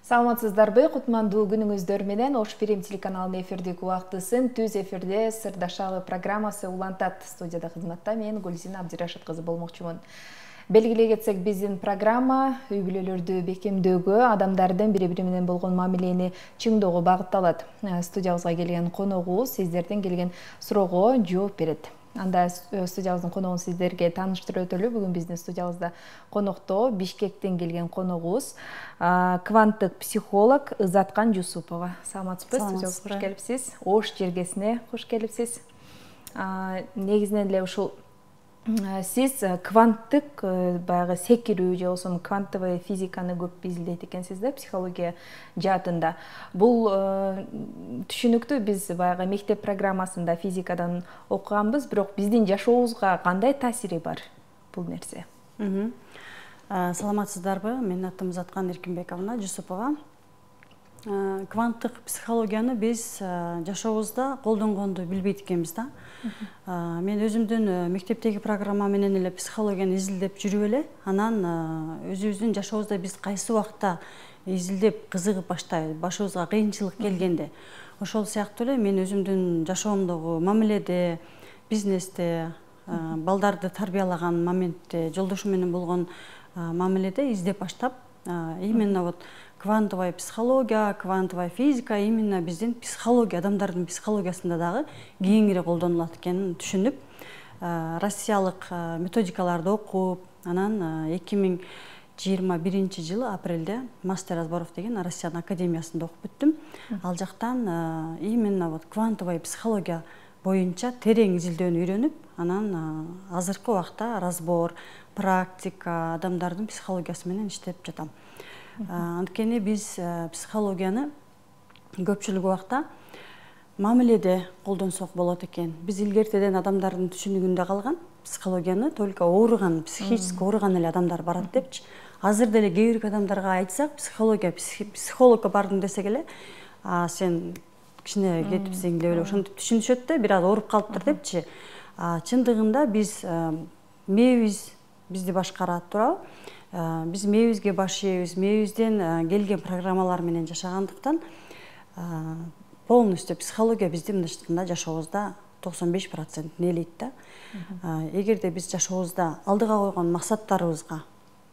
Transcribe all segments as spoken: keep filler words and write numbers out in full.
Саламатсыздарбы, кутмандуу күнүңүздөр менен Ош Фильм телеканалынын эфирдик убактысын түз эфирде Сырдашалы программасы улантат. Студияда кызматта мен Гүлзина Абдирашит кызы болмокчумун. Белгилей кетсек, биздин программа үй бүлөлөрдү бекемдөөгө, адамдардын бири-бири менен болгон мамилени чыңдөөгө багытталат. Студиябызга келген коногубуз сиздерден келген суроого жооп берет. Анда студиябыздын коногун сиздерге тааныштырып өтөлү. Бүгүн биздин студиябызда конокто Бишкектен келген коногубуз кванттык психолог Ызаткан Жусупова. Саламатсызбы? Студиябызга кош келипсиз. Ош жергесине кош келипсиз. Негизинен эле ушул сиз кванттык баягы секирүү же болбосо квантовый физиканы көп изилдейт экенсиз да, психология жаатында. Бул түшүнүктүү, биз баягы мектеп программасында физикадан окуганбыз, бирок биздин жашообузга кандай таасири бар бул нерсе? Саламатсыздарбы? Менин атым Ызаткан Эркинбековна Жусупова. Кванттык психологияны биз жашообузда колдонгонду билбейт экенбиз да. Мен өзүмдүн мектептеги программа менен эле психологияны изилдеп жүрүп эле, анан өзүбүздүн жашообузда биз кайсы убакта изилдеп кызыгып баштайбыз, башыбызга кыйынчылык келгенде. Ошол сыяктуу эле мен өзүмдүн жашоомдогу мамиледе, бизнесте, балдарды тарбиялаган моментте, жолдошум менен болгон мамиледе издеп баштап, именно вот квантовая психология, квантовая физика именно биздин психология, адамдардын психологиясында дагы кеңири колдонулат экенин түшүнүп, россиялык методикаларды окуп, анан эки миң жыйырма биринчи жылы апрелде мастер разборов деген Россиянын академиясында окуп бүттүм. Ал жактан именно вот квантовая психология боюнча терең изилдөөнү үйрөнүп, анан азыркы убакта разбор, практика, адамдардын психологиясы менен иштеп жатам. Анткени биз психологияны көпчүлүк убакта мамиледе колдонсок болот экен. Биз илгертеден адамдардын түшүнүгүндө калган психологияны только ооруган, психически ооруган эле адамдар барат депчи. Азыр деле кээ бир адамдарга айтсак, психология, психологко бардым десек эле, сен кичине кетипсиң деп эле ошентип түшүнүшөт да, бир аз ооруп калыптыр депчи. Чындыгында биз мээбиз бизди башкарат, туурабы? Биз мээбизге баш ийебиз, мээбизден келген программалар менен жашагандыктан полностью психология биздин мындайча жашообузда токсон беш процентин ээлейт да. Эгерде биз жашообузда алдыга койгон максаттарыбызга,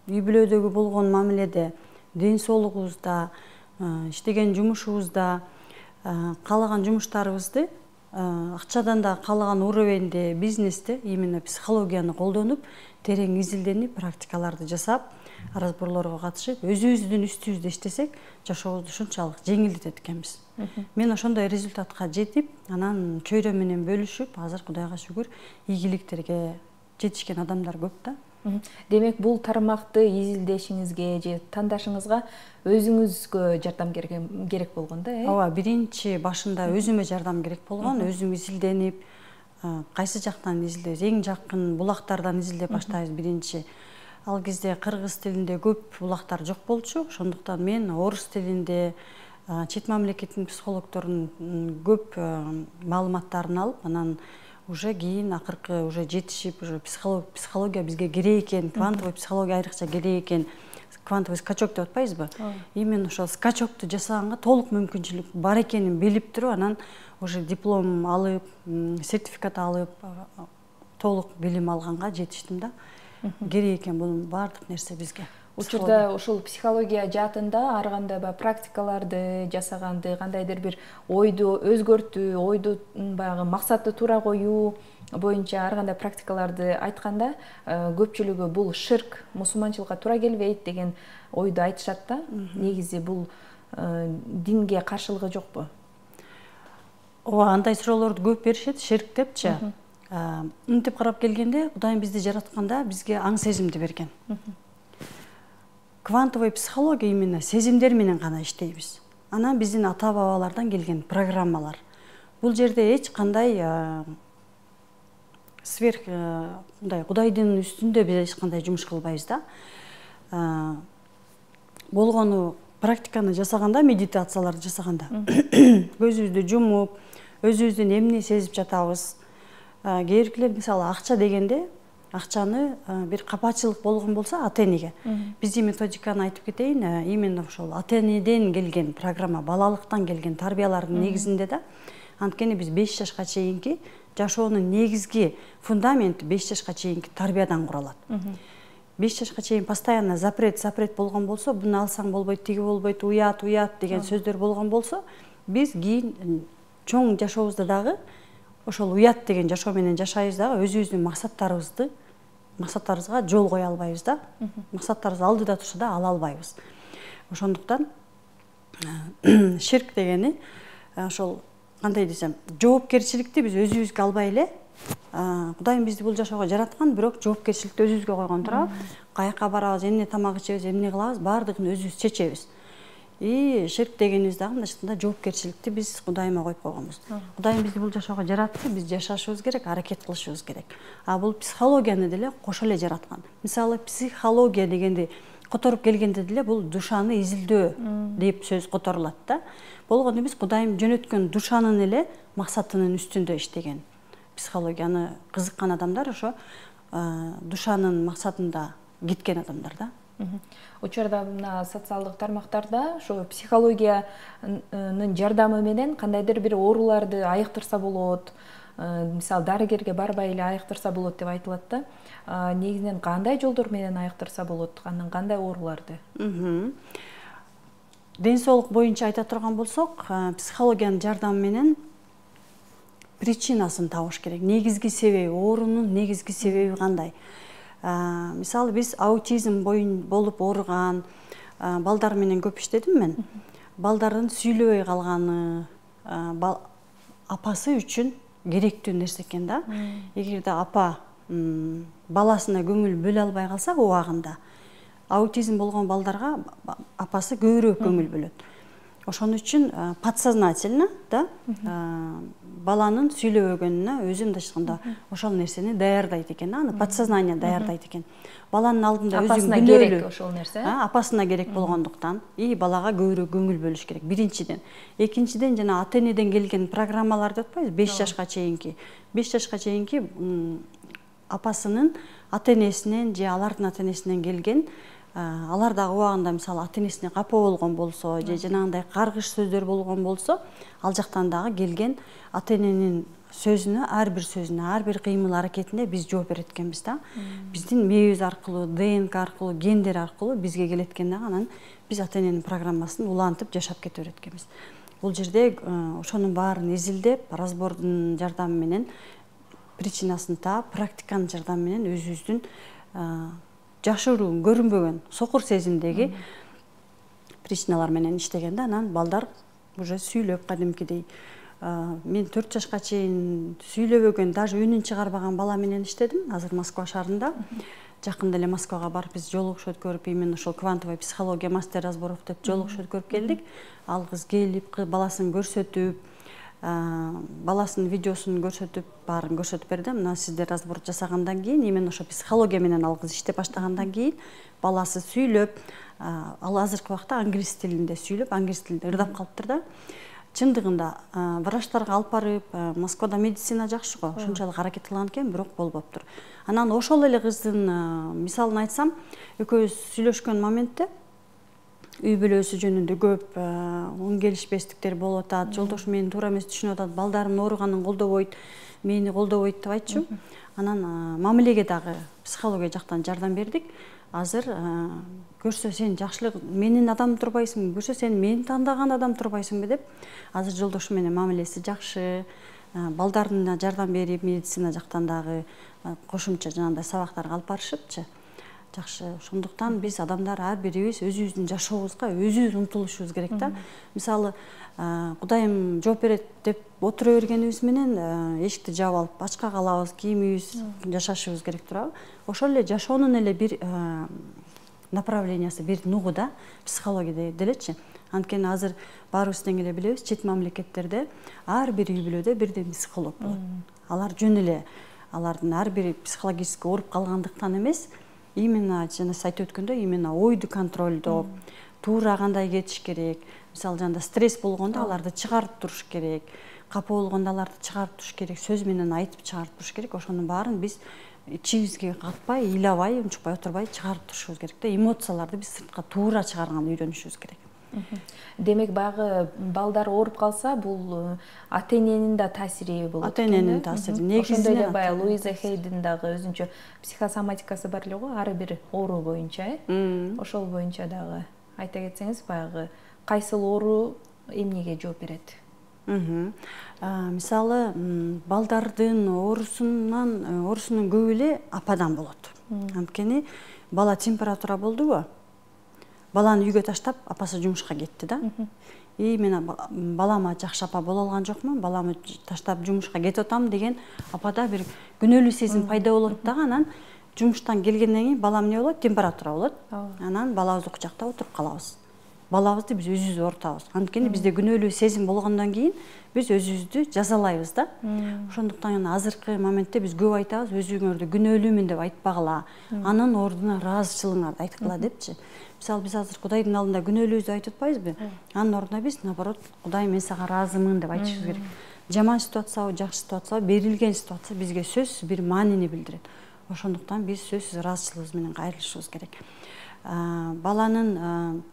үй бүлөдөгү болгон мамиледе, ден соолугубузда, иштеген жумушубузда, каалаган жумуштарыбызды акчадан да каалаган уровеньде, бизнесте именно психологияны колдонуп, терең изилденип, практикаларды жасап, разборлорго катышып, өзүбүздүн үстүбүздө иштесек, жашообузду ушунчалык жеңилдетет экенбиз. Мен ошондой результатка жетип, анан чөйрө менен бөлүшүп, азыр Кудайга шүгүр ийгиликтерге жетишкен адамдар көп да. Демек, бул тармакты изилдешиңизге же тандашыңызга өзүңүзгө жардам керек болгон да, э? Ооба, биринчи башында өзүмө жардам керек болгон, өзүм изилденип, кайсы жактан изилдейбиз, эң жакын булактардан изилдеп баштайбыз биринчи. Ал кезде кыргыз тилинде көп булактар жок болчу, ошондуктан мен орус тилинде чет мамлекеттин психологдорунун көп маалыматтарын алып, анан уже кийин акыркы уже жетишип, уже психология бизге керек экен, квантовый психология айрыкча керек экен, квантовый скачок деп атпайбызбы? Именно ошол скачокту жасаганга толук мүмкүнчүлүк бар экенин билип туруп, анан уже диплом алып, сертификат алып, толук билим алганга жетиштим да. Керек экен бунун баардык нерсе бизге. Учурда ушул психология жаатында ар кандай практикаларды жасаганды, кандайдыр бир ойду өзгөртүү, ойду баягы максатты туура коюу боюнча ар кандай практикаларды айтканда, көпчүлүгү бул ширк, мусулманчылыкка туура келбейт деген ойду айтышат да. Негизи бул динге каршылыгы жокпу? Ооба, андай суроолорду көп беришет, ширк депчи. Мынтип карап келгенде, Кудайым бизди жаратканда бизге аң сезимди берген. Квантовый психология именно сезимдер менен гана иштейбиз. Анан биздин ата-бабалардан келген программалар. Бул жерде эч кандай сверх мындай Кудайдын үстүндө биз эч кандай жумуш кылбайбыз да. Болгону практиканы жасаганда, медитацияларды жасаганда көзүбүздү жумуп, өзүбүздүн эмне сезип жатабыз. Кээ биркилер мисалы акча дегенде акчаны бир капачылык болгон болсо ата энеге биздин методиканы айтып кетейин, именно ошол ата энеден келген программа, балалыктан келген тарбиялардын негизинде да. Анткени биз беш жашка чейинки жашоонун негизги фундаменти беш жашка чейинки тарбиядан куралат. беш жашка чейин постоянно запрет, запрет болгон болсо, буну алсаң болбойт, тиги болбойт, уят, уят деген сөздөр болгон болсо, биз кийин чоң жашообузда дагы ошол уят деген жашоо менен жашайбыз дагы өзүбүздүн максаттарыбызды максаттарыбызга жол кое албайбыз да. Максаттарыбыз алдыда турса да ала албайбыз. Ошондуктан ширк дегени ошол кандай десем, жоопкерчиликти биз өзүбүзгө албай эле, Кудайым бизди бул жашоого жараткан, бирок жоопкерчиликти өзүбүзгө койгон туурабы? Каяка барабыз, эмне тамак ичебиз, эмне кылабыз, баардыгын өзүбүз чечебиз. И ширк дегенибиз дагы мындайча айтканда жоопкерчиликти биз Кудайыма коюп койгонбуз. Кудайым бизди бул жашоого жаратты, биз жашашыбыз керек, аракет кылышыбыз керек. А бул психологияны деле кошо эле жараткан. Мисалы, психология дегенди которуп келгенде деле бул душаны изилдөө деп сөз которулат да. Болгону биз Кудайым жөнөткөн душанын эле максатынын үстүндө иштеген. Психологияны кызыккан адамдар ошо душанын максатында кеткен адамдар да. Учурда мына социалдык тармактарда ошо психологиянын жардамы менен кандайдыр бир ооруларды айыктырса болот, мисалы дарыгерге барбай эле айыктырса болот деп айтылат да. Негизинен кандай жолдор менен айыктырса болот, анан кандай ооруларды? Ден соолук боюнча айта турган болсок, психологиянын жардамы менен причинасын табыш керек. Негизги себеби, оорунун негизги себеби кандай? Мисалы, биз аутизм боюн болуп ооруган балдар менен көп иштедим мен. Балдардын сүйлөбөй калганы апасы үчүн керектүү нерсе экен да. Эгерде апа баласына көңүл бөлө албай калса убагында, аутизм болгон балдарга апасы көбүрөөк көңүл бөлөт. Ошон үчүн подсознательно да баланын сүйлөбөгөнүнө өзү мындайча айтканда ошол нерсени даярдайт экен, аны подсознание даярдайт экен. Баланын алдында өзүн билөлүү ошол нерсе, апасына керек болгондуктан и балага көбүрөөк көңүл бөлүш керек. Биринчиден, экинчиден жана ата энеден келген программалар деп атпайбыз, беш жашка чейинки. беш жашка чейинки апасынын ата энесинен же алардын ата энесинен келген, алар дагы убагында мисалы ата энесине капа болгон болсо, же жанагындай каргыш сөздөр болгон болсо, ал жактан дагы келген ата эненин сөзүнө, ар бир сөзүнө, ар бир кыймыл аракетине биз жооп берет экенбиз да. Биздин мээбиз аркылуу, ДНК аркылуу, гендер аркылуу бизге келет экен дагы, анан биз ата эненин программасын улантып жашап кете берет экенбиз. Бул жерде ошонун баарын изилдеп, разбордун жардамы менен причинасын таап, практиканын жардамы менен өзүбүздүн жашыруу, көрүнбөгөн, сокур сезимдеги причиналар менен иштегенде, анан балдар уже сүйлөп кадимкидей. Мен төрт жашка чейин сүйлөбөгөн, даже үнүн чыгарбаган бала менен иштедим, азыр Москва шаарында. Жакында эле Москвага барып биз жолугуш өткөрүп, именно ошол квантовая психология мастер разборов деп жолугуш өткөрүп келдик. Ал кыз келип, баласын көрсөтүп, баласынын видеосун көрсөтүп, баарын көрсөтүп берди. Мына сиздер разбор жасагандан кийин, именно ошо психология менен ал кыз иштеп баштагандан кийин баласы сүйлөп, ал азыркы убакта англис тилинде сүйлөп, англис тилинде ырдап калыптыр да. Чындыгында врачтарга алып барып, Москвада медицина жакшы го, ошончолук аракет кылган экен, бирок болбоптур. Анан ошол эле кыздын мисалын айтсам, экөөбүз сүйлөшкөн моментте үй бүлөсү жөнүндө көп оң келишпестиктер болуп атат, жолдош мени туура эмес түшүнүп атат, балдарым ооруганын колдобойт, мени колдобойт деп айтчу. Анан мамилеге дагы психология жактан жардам бердик. Азыр көрсө сен жакшылык менин адам турбайсыңбы, көрсө сен мени тандаган адам турбайсыңбы деп, азыр жолдошу менен мамилеси жакшы, балдарына жардам берип, медицина жактан дагы кошумча жанагындай сабактарга алып барышыпчы. Жакшы. Ошондуктан биз адамдар ар бирибиз өзүбүздүн жашообузга өзүбүз умтулушубуз керек да. Мисалы, Кудайым жооп берет деп отура бергенибиз менен эшикти жаап алып ачка калабыз, кийимибиз, жашашыбыз керек турабы? Ошол эле жашоонун эле бир направлениясы, бир нугу да психология делечи. Анткени азыр баарыбыз тең эле билебиз, чет мамлекеттерде ар бир үй бүлөдө бирден психолог болот. Алар жөн эле алардын ар бири психологически ооруп калгандыктан эмес, именно жана сиз айтып өткөндөй, именно ойду контролдоп, туура кандай кетиш керек. Мисалы жанда стресс болгондо аларды чыгарып туруш керек. Капа болгондо аларды чыгарып туруш керек, сөз менен айтып чыгарып туруш керек. Ошонун баарын биз ичибизге катпай, ыйлабай, унчукпай отурбай чыгарып турушубуз керек да. Эмоцияларды биз сыртка туура чыгарганды үйрөнүшүбүз керек. Демек баягы балдар ооруп калса, бул ата-эненин да таасири болот. Ата-эненин таасири. Негизинен ошондой эле баягы Луиза Хейдин дагы өзүнчө психосоматикасы бар эле го, ар бир оору боюнча, э? Ошол боюнча дагы айта кетсеңиз, баягы кайсыл оору эмнеге жооп берет? Мисалы, балдардын оорусунан, оорусунун көбү эле ападан болот. Анткени бала температура болдубу? Баланы үйгө таштап, апасы жумушка кетти да. И мен балама жакшы апа боло алган жокмун, баламы таштап жумушка кетип атам деген апада бир күнөөлүү сезим пайда болот дагы. Анан жумуштан келгенден кийин балам эмне болот? Температура болот. Анан балабызды кучактап отуруп калабыз. Балабызды биз өзүбүз оорутабыз. Анткени бизде күнөөлүү сезим болгондон кийин биз өзүбүздү жазалайбыз да. Ошондуктан азыркы моментте биз көп айтабыз, өзүңөрдү күнөөлүүмүн деп айтпагыла, анын ордуна ыраазычылыгыңарды айткыла депчи. Мисалы, биз азыр Кудайдын алдында күнөөлүүбүздү айтып атпайбызбы? Анын ордуна биз наоборот, Кудай мен сага ыраазымын деп айтышыбыз керек. Жаман ситуациябы, жакшы ситуациябы, берилген ситуация бизге сөзсүз бир маанини билдирет. Ошондуктан биз сөзсүз ыраазычылыгыбыз менен кайрылышыбыз керек. Баланын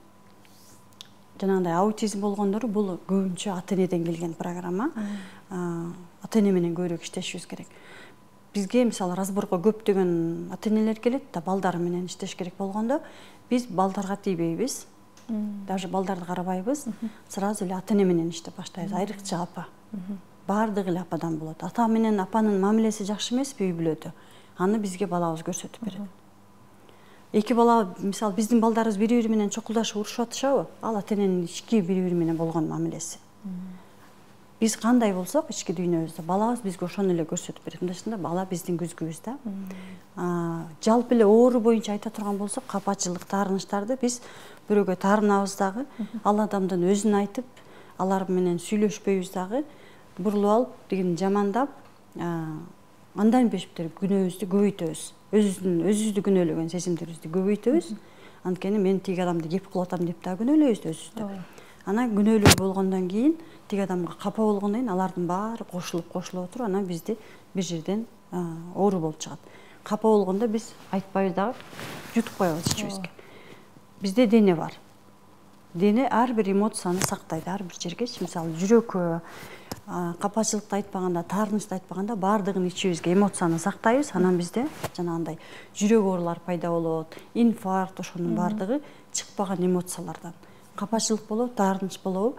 жанагындай аутизм болгондору бул көбүнчө ата-энеден келген программа. Ата-эне менен көбүрөөк иштешибиз керек. Бизге мисалы разборго көптөгөн ата-энелер келет да, балдары менен иштеш керек болгондо, биз балдарга тийбейбиз. Даже балдарды карабайбыз. Сразу эле ата-эне менен иштеп баштайбыз. Айрыкча апа. Бардыгы эле ападан болот. Ата менен апанын мамилеси жакшы эмеспи үй бүлөдө? Аны бизге балабыз көрсөтүп берет. Эки бала, мисалы, биздин балдарыбыз бири-бири менен чокулдашып урушуп атышабы? Ал ата-эненин ички бири-бири менен болгон мамилеси. Биз кандай болсок, ички дүйнөбүздө балабыз бизге ошону эле көрсөтүп берет. Мындайча бала биздин күзгүбүз да. Жалпы эле оору боюнча айта турган болсок, капачылык, таарынычтарды биз бирөөгө таарынабыз дагы, ал адамдын өзүн айтып, алар менен сүйлөшпөйбүз дагы, бурулуп алып, деген жамандап, андан бешиптер күнөөбүздү көбөйтөбүз. Өзүбүздүн өзүбүздү күнөөлөгөн сезимдерибизди көбөйтөбүз. Анткени мен тиги адамды кеп кылып атам деп да күнөөлөйбүз өзүбүздү. Анан күнөөлүү болгондон кийин, тиги адамга капа болгондон кийин алардын баары кошулуп кошулуп отуруп, анан бизди бир жерден оору болуп чыгат. Капа болгондо биз айтпайбыз дагы, жутуп коебуз ичибизге. Бизде дене бар. Дене ар бир эмоцияны сактайт, ар бир жергечи, мисалы, жүрөккө, капачылыкты айтпаганда, таарынычты айтпаганда баардыгын ичибизге эмоцияны сактайбыз. Анан бизде жанагындай жүрөк оорулар пайда болот, инфаркт, ошонун баардыгы чыкпаган эмоциялардан. Капачылык болобу, таарыныч болобу?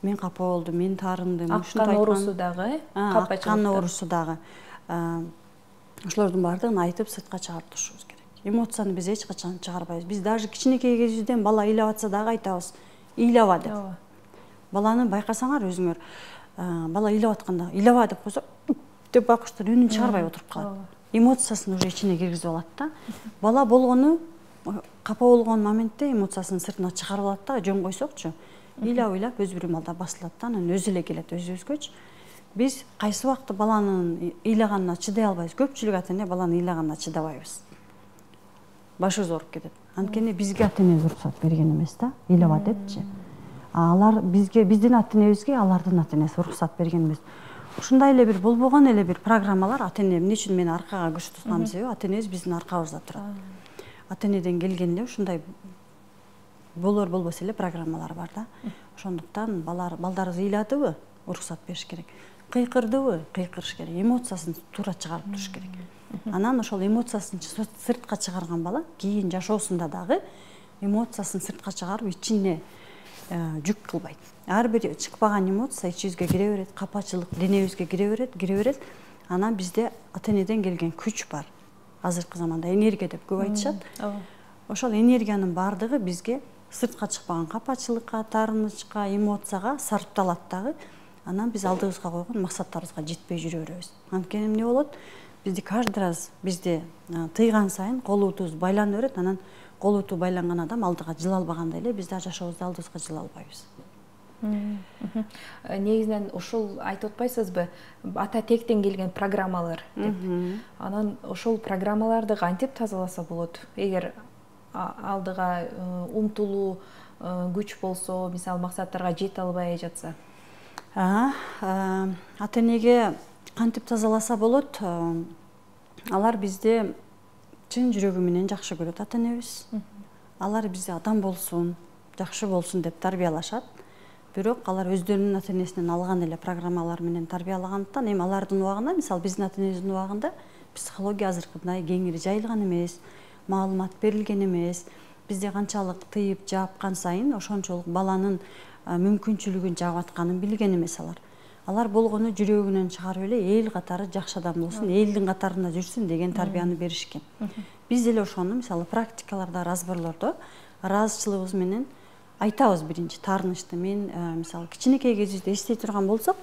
Мен капа болдум, мен таарындым. Аккан оорусу дагы, капачылык. Аккан оорусу дагы. Ошолордун баардыгын айтып сыртка чыгарып турушубуз керек. Эмоцияны биз эч качан чыгарбайбыз. Биз даже кичинекей кезибизден бала ыйлап атса дагы айтабыз, ыйлаба деп. Баланы байкасаңар өзүңөр, бала ыйлап атканда, ыйлаба деп койсо, деп байкуштар үнүн чыгарбай отуруп калат. Эмоциясын уже ичине киргизип алат да. Бала болгону, капа болгон моментте эмоциясын сыртына чыгарып алат да, жөн койсокчу. Ыйлап-ыйлап өз бир маалда басылат да, анан өзү эле келет өзүбүзгөчү. Биз кайсы убакта баланын ыйлаганына чыдай албайбыз. Көпчүлүк ата-эне баланын ыйлаганына чыдабайбыз. Башыбыз ооруп кетет. Анткени бизге ата-эне уруксат берген эмес да, ыйлаба депчи. Алар бизге, биздин ата-энебизге алардын ата-энеси уруксат берген эмес. Ушундай эле бир болбогон эле бир программалар ата-эне эмне үчүн мени аркага көрсөтүп атканын себеби ата-энебиз биздин аркабызда турат. Ата-энеден келген эле ушундай болор болбосо эле программалар бар да. Ошондуктан балдарыбыз ыйладыбы, уруксат бериш керек. Кыйкырдыбы, кыйкырыш керек. Эмоциясын туура чыгарып туруш керек. Анан ошол эмоциясын сыртка чыгарган бала кийин жашоосунда дагы эмоциясын сыртка чыгарып ичине жүк кылбайт. Ар бир чыкпаган эмоция ичибизге кире берет, капачылык денебизге кире берет, кире берет. Анан бизде ата-энеден келген күч бар. Азыркы заманда энергия деп көп айтышат. Ошол энергиянын баардыгы бизге сыртка чыкпаган капачылыкка, таарынычка, эмоцияга сарпталат дагы. Анан биз алдыбызга койгон максаттарыбызга жетпей жүрө беребиз. Анткени эмне болот? Бизди каждый раз бизди тыйган сайын колубуз байлана берет. Анан колубу байланган адам алдыга жыла албагандай эле биз да жашообузда алдыбызга жыла албайбыз. Негизинен ушул айтып атпайсызбы, ата тектен келген программалар деп. Анан ошол программаларды кантип тазаласа болот? Эгер алдыга умтулуу күч болсо, мисалы максаттарга жете албай жатса. Ата-энеге кантип тазаласа болот? алар бизди чын жүрөгү менен жакшы көрөт, ата энебиз. Алар бизди адам болсун, жакшы болсун деп тарбиялашат. Бирок алар өздөрүнүн ата энесинен алган эле программалар менен тарбиялагандыктан, эми алардын убагында, мисалы биздин ата энебиздин убагында психология азыркыдай кеңири жайылган эмес, маалымат берилген эмес. Бизде канчалык тыйып жапкан сайын ошончолук баланын мүмкүнчүлүгүн жаап атканын билген эмес алар. Алар болгону жүрөгүнөн чыгарып эле эл катары жакшы адам болсун, элдин катарында жүрсүн деген тарбияны беришкен. Биз деле ошону мисалы практикаларда, разборлордо ыраазычылыгыбыз менен айтабыз. Биринчи таарынычты мен мисалы кичинекей кезибизде эстей турган болсок,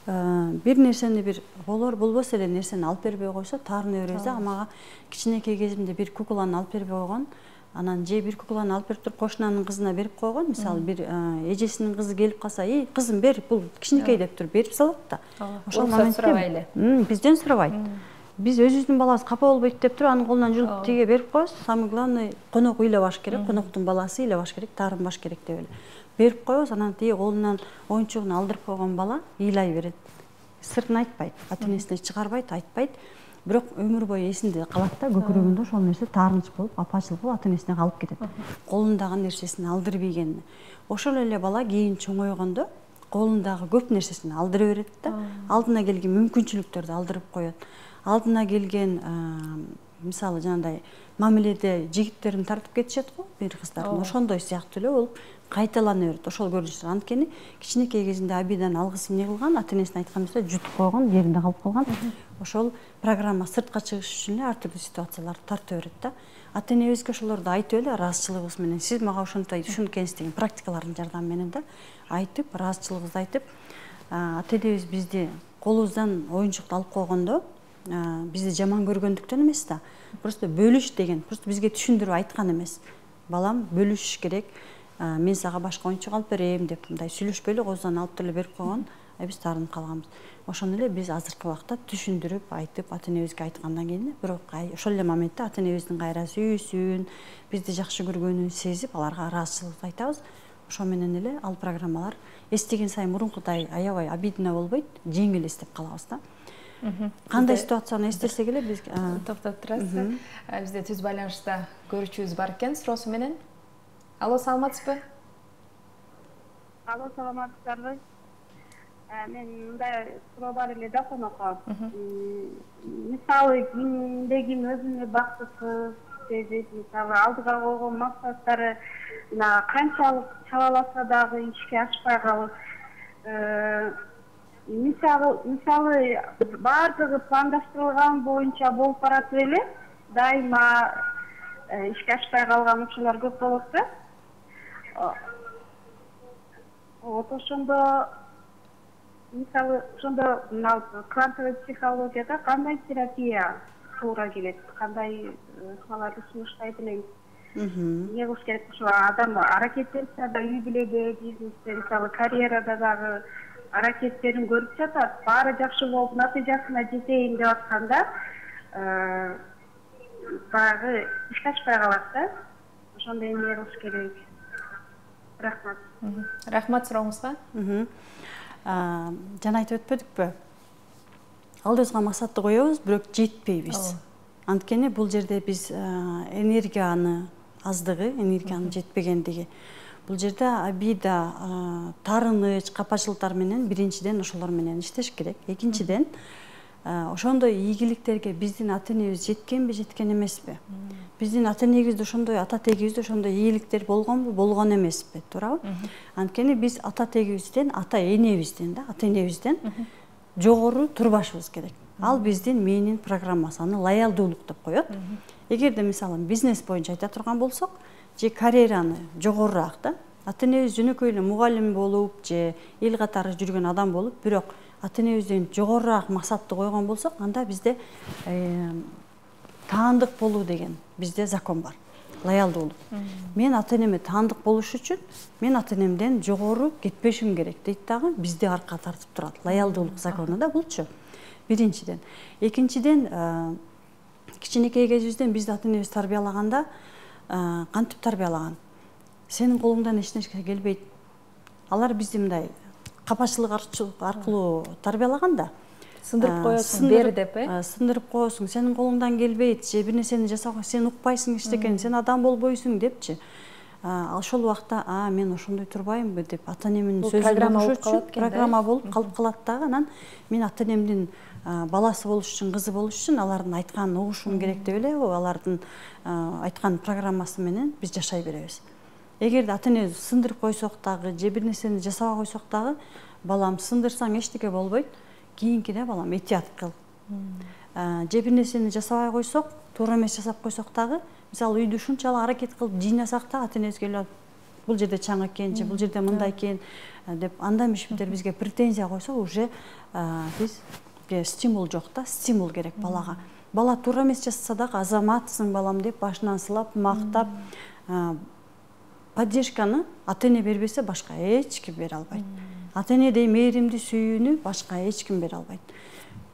бир нерсени бир болор болбос эле нерсени алып бербей койсо таарына беребиз да. Мага кичинекей кезимде бир кукланы алып бербей койгон, анан же бир кукланы алып берип туруп кошунанын кызына берип койгон. Мисалы бир эжесинин кызы келип калса, "Эй, кызым бер, бул кичинекей" деп туруп берип салат да. Ошол моментте бизден сурабайт. Биз өзүбүздүн балабыз капа болбойт деп туруп анын колунан жулуп тиге берип коебуз. Самый главный конок ыйлабаш керек, коноктун баласы ыйлабаш керек, таарынбаш керек деп эле берип коебуз. Анан тиги колунан оюнчугун алдырып койгон бала ыйлай берет. Сыртын айтпайт, ата энесине чыгарбайт, айтпайт. Бирок өмүр бою эсинде калат да, көкүрөгүндө ошол нерсе таарыныч болуп, апачылык болуп ата энесине калып кетет. Колундагы нерсесин алдырып ийгенине. Ошол эле бала кийин чоңойгондо колундагы көп нерсесин алдыра берет да. Алдына келген мүмкүнчүлүктөрдү алдырып коет. Алдына келген мисалы жанагындай мамиледе жигиттерин тартып кетишет го, бир кыздардын. Ошондой сыяктуу эле болуп кайталана берет ошол көрүнүштөр. Анткени кичинекей кезинде абийдан алгысы эмне кылган, ата энесине айткан нерсе жутуп койгон, жеринде калып калган. Ошол программа сыртка чыгыш үчүн эле ар түрдүү ситуацияларды тарта берет да. Ата энебизге ошолорду айтып эле ыраазычылыгыбыз менен, сиз мага ошонтип ушунткенсиз деген практикалардын жардамы менен да айтып, ыраазычылыгыбызды айтып, ата энебиз бизди колубуздан оюнчукту алып койгондо бизди жаман көргөндүктөн эмес да, просто бөлүш деген, просто бизге түшүндүрүп айткан эмес. Балам, бөлүшүш керек, мен сага башка оюнчук алып берем деп мындай сүйлөшпөй эле козудан алып деле берип койгон, биз таарынып калганбыз. Ошону эле биз азыркы убакта түшүндүрүп, айтып, ата энебизге айткандан кийин, бирок ошол эле моментте ата энебиздин кайра сүйүүсүн, бизди жакшы көргөнүн сезип, аларга ыраазычылык айтабыз. Ошо менен эле ал программалар эстеген сайын мурункудай аябай обидно болбойт, жеңил эстеп калабыз да. Кандай ситуацияны эстесек эле биз токтоп турасыз. Бизде түз байланышта көрүүчүбүз бар экен суроосу менен. Алло, саламатсызбы? Алло, саламатсыздарбы? Мен мындай суроо бар эле да конокко. Мисалы кимде ким өзүнө бактысыз сезип, мисалы алдыга койгон максаттары канчалык чабаласа дагы ишке ашпай калып, мисалы мисалы баардыгы пландаштырылган боюнча болуп баратып эле дайыма ишке ашпай калган учурлар көп болот да. Вот ошондо мисалы ошондо мына квантовый психологияда кандай терапия туура келет, кандай ыкмаларды сунуштайт элеңиз? Эмне кылыш керек? Ошо адам аракеттенсе да үй бүлөдө, бизнесте, мисалы карьерада дагы аракеттерин көрүп жатат, баары жакшы болуп натыйжасына жетейин деп атканда баягы ишке ашпай калат да. Ошондо эмне кылыш керек? Рахмат. Рахмат сурооңузга. Жана айтып өтпөдүкпү? Алдыбызга максатты коебуз, бирок жетпейбиз. Анткени бул жерде биз энергияны аздыгы, энергиянын жетпегендиги. Бул жерде обида, таарыныч, капачылыктар менен биринчиден ошолор менен иштеш керек. Экинчиден, ошондой ийгиликтерге биздин ата энебиз жеткенби, жеткен эмеспи? Биздин ата энебизде ошондой, ата тегибизде ошондой ийгиликтер болгонбу, болгон эмеспи, туурабы? Анткени биз ата тегибизден, ата энебизден да, ата энебизден жогору турбашыбыз керек. Ал биздин мээнин программасы, аны лоялдуулук деп коет. Эгерде мисалы бизнес боюнча айта турган болсок, же карьераны жогорураак да, ата энебиз жөнөкөй эле мугалим болуп, же эл катары жүргөн адам болуп, бирок ата энебизден жогорураак максатты койгон болсок, анда бизде таандык болуу деген бизде закон бар. Лоялдуулук. Мен ата энеме таандык болуш үчүн мен ата энемден жогору кетпешим керек дейт дагы, бизди аркка тартып турат. Лоялдуулук закону да булчу. Биринчиден. Экинчиден, кичинекей кезибизден бизди ата энебиз тарбиялаганда кантип тарбиялаган? Сенин колуңдан эч нерсе келбейт. Алар бизди мындай капачылык аркылуу тарбиялаган да. сындырып коесуң бер деп, э? Сындырып коесуң, сенин колуңдан келбейт, же бир нерсени жасабай, сен укпайсың эчтекени, сен адам болбойсуң депчи. Ошол убакта, а мен ошондой турбаймынбы деп ата-энемдин сөзүн угуш үчүн программа болуп калып калат дагы. Анан мен ата-энемдин баласы болуш үчүн, кызы болуш үчүн алардын айтканын угушум керек деп эле, алардын айткан программасы менен биз жашай беребиз. Эгерде ата-эне сындырып койсок дагы, же бир нерсени жасабай койсок дагы, балам сындырсаң эчтеке болбойт, кийинкиде балам этият кыл. Же бир нерсени жасабай койсок, туура эмес жасап койсок дагы, мисалы үйдү ушунчалык аракет кылып жыйнасак да, ата-энебизге эле бул жерде чаң экен, же бул жерде мындай экен деп андан беш бетер бизге претензия койсо, уже биз стимул жок да, стимул керек балага. Бала туура эмес жасаса дагы азаматсың балам деп башынан сылап, мактап, поддержканы ата-эне бербесе башка эч ким бере албайт. Ата-энедей мээримди, сүйүүнү башка эч ким бере албайт.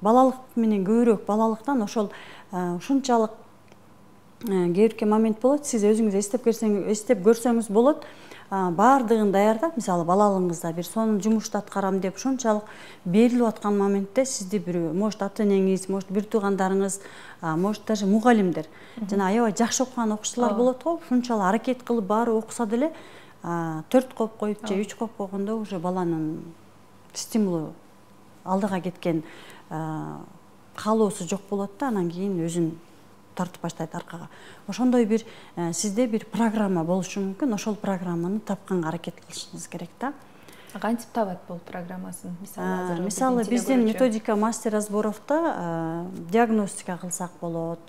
Балалык менен көбүрөөк, балалыктан ошол ушунчалык кээ бирки момент болот, сиз өзүңүз эстеп көрсөңүз, эстеп көрсөңүз болот, баардыгын даярдап, мисалы балалыгыңызда бир сонун жумушту аткарам деп ушунчалык берилип аткан моментте сизди бир, может ата-энеңиз, может бир туугандарыңыз, может даже мугалимдер, жана аябай жакшы окуган окуучулар болот го, ушунчалык аракет кылып баары окуса деле төрт коп коюп же үч коп койгондо уже баланын стимулу алдыга кеткен каалоосу жок болот да, анан кийин өзүн тартып баштайт аркага. Ошондой бир сизде бир программа болушу мүмкүн, ошол программаны тапканга аракет кылышыңыз керек да. Кантип табат бул программасын? Мисалы азыр мисалы биздин методика мастер разборовто диагностика кылсак болот,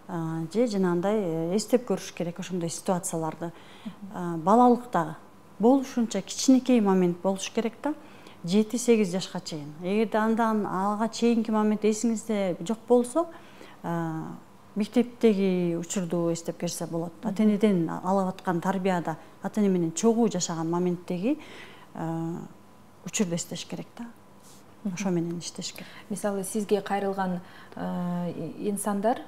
же жанагындай эстеп көрүш керек ошондой ситуацияларды. Балалыкта болушунча кичинекей момент болуш керек да, жети сегиз жашка чейин. Эгерде андан ага чейинки момент эсиңизде жок болсо, мектептеги учурду эстеп көрсө болот. Ата-энеден алып аткан тарбияда, ата-эне менен чогуу жашаган моменттеги учурду эстеш керек да. Ошо менен иштеш керек. Мисалы сизге кайрылган инсандар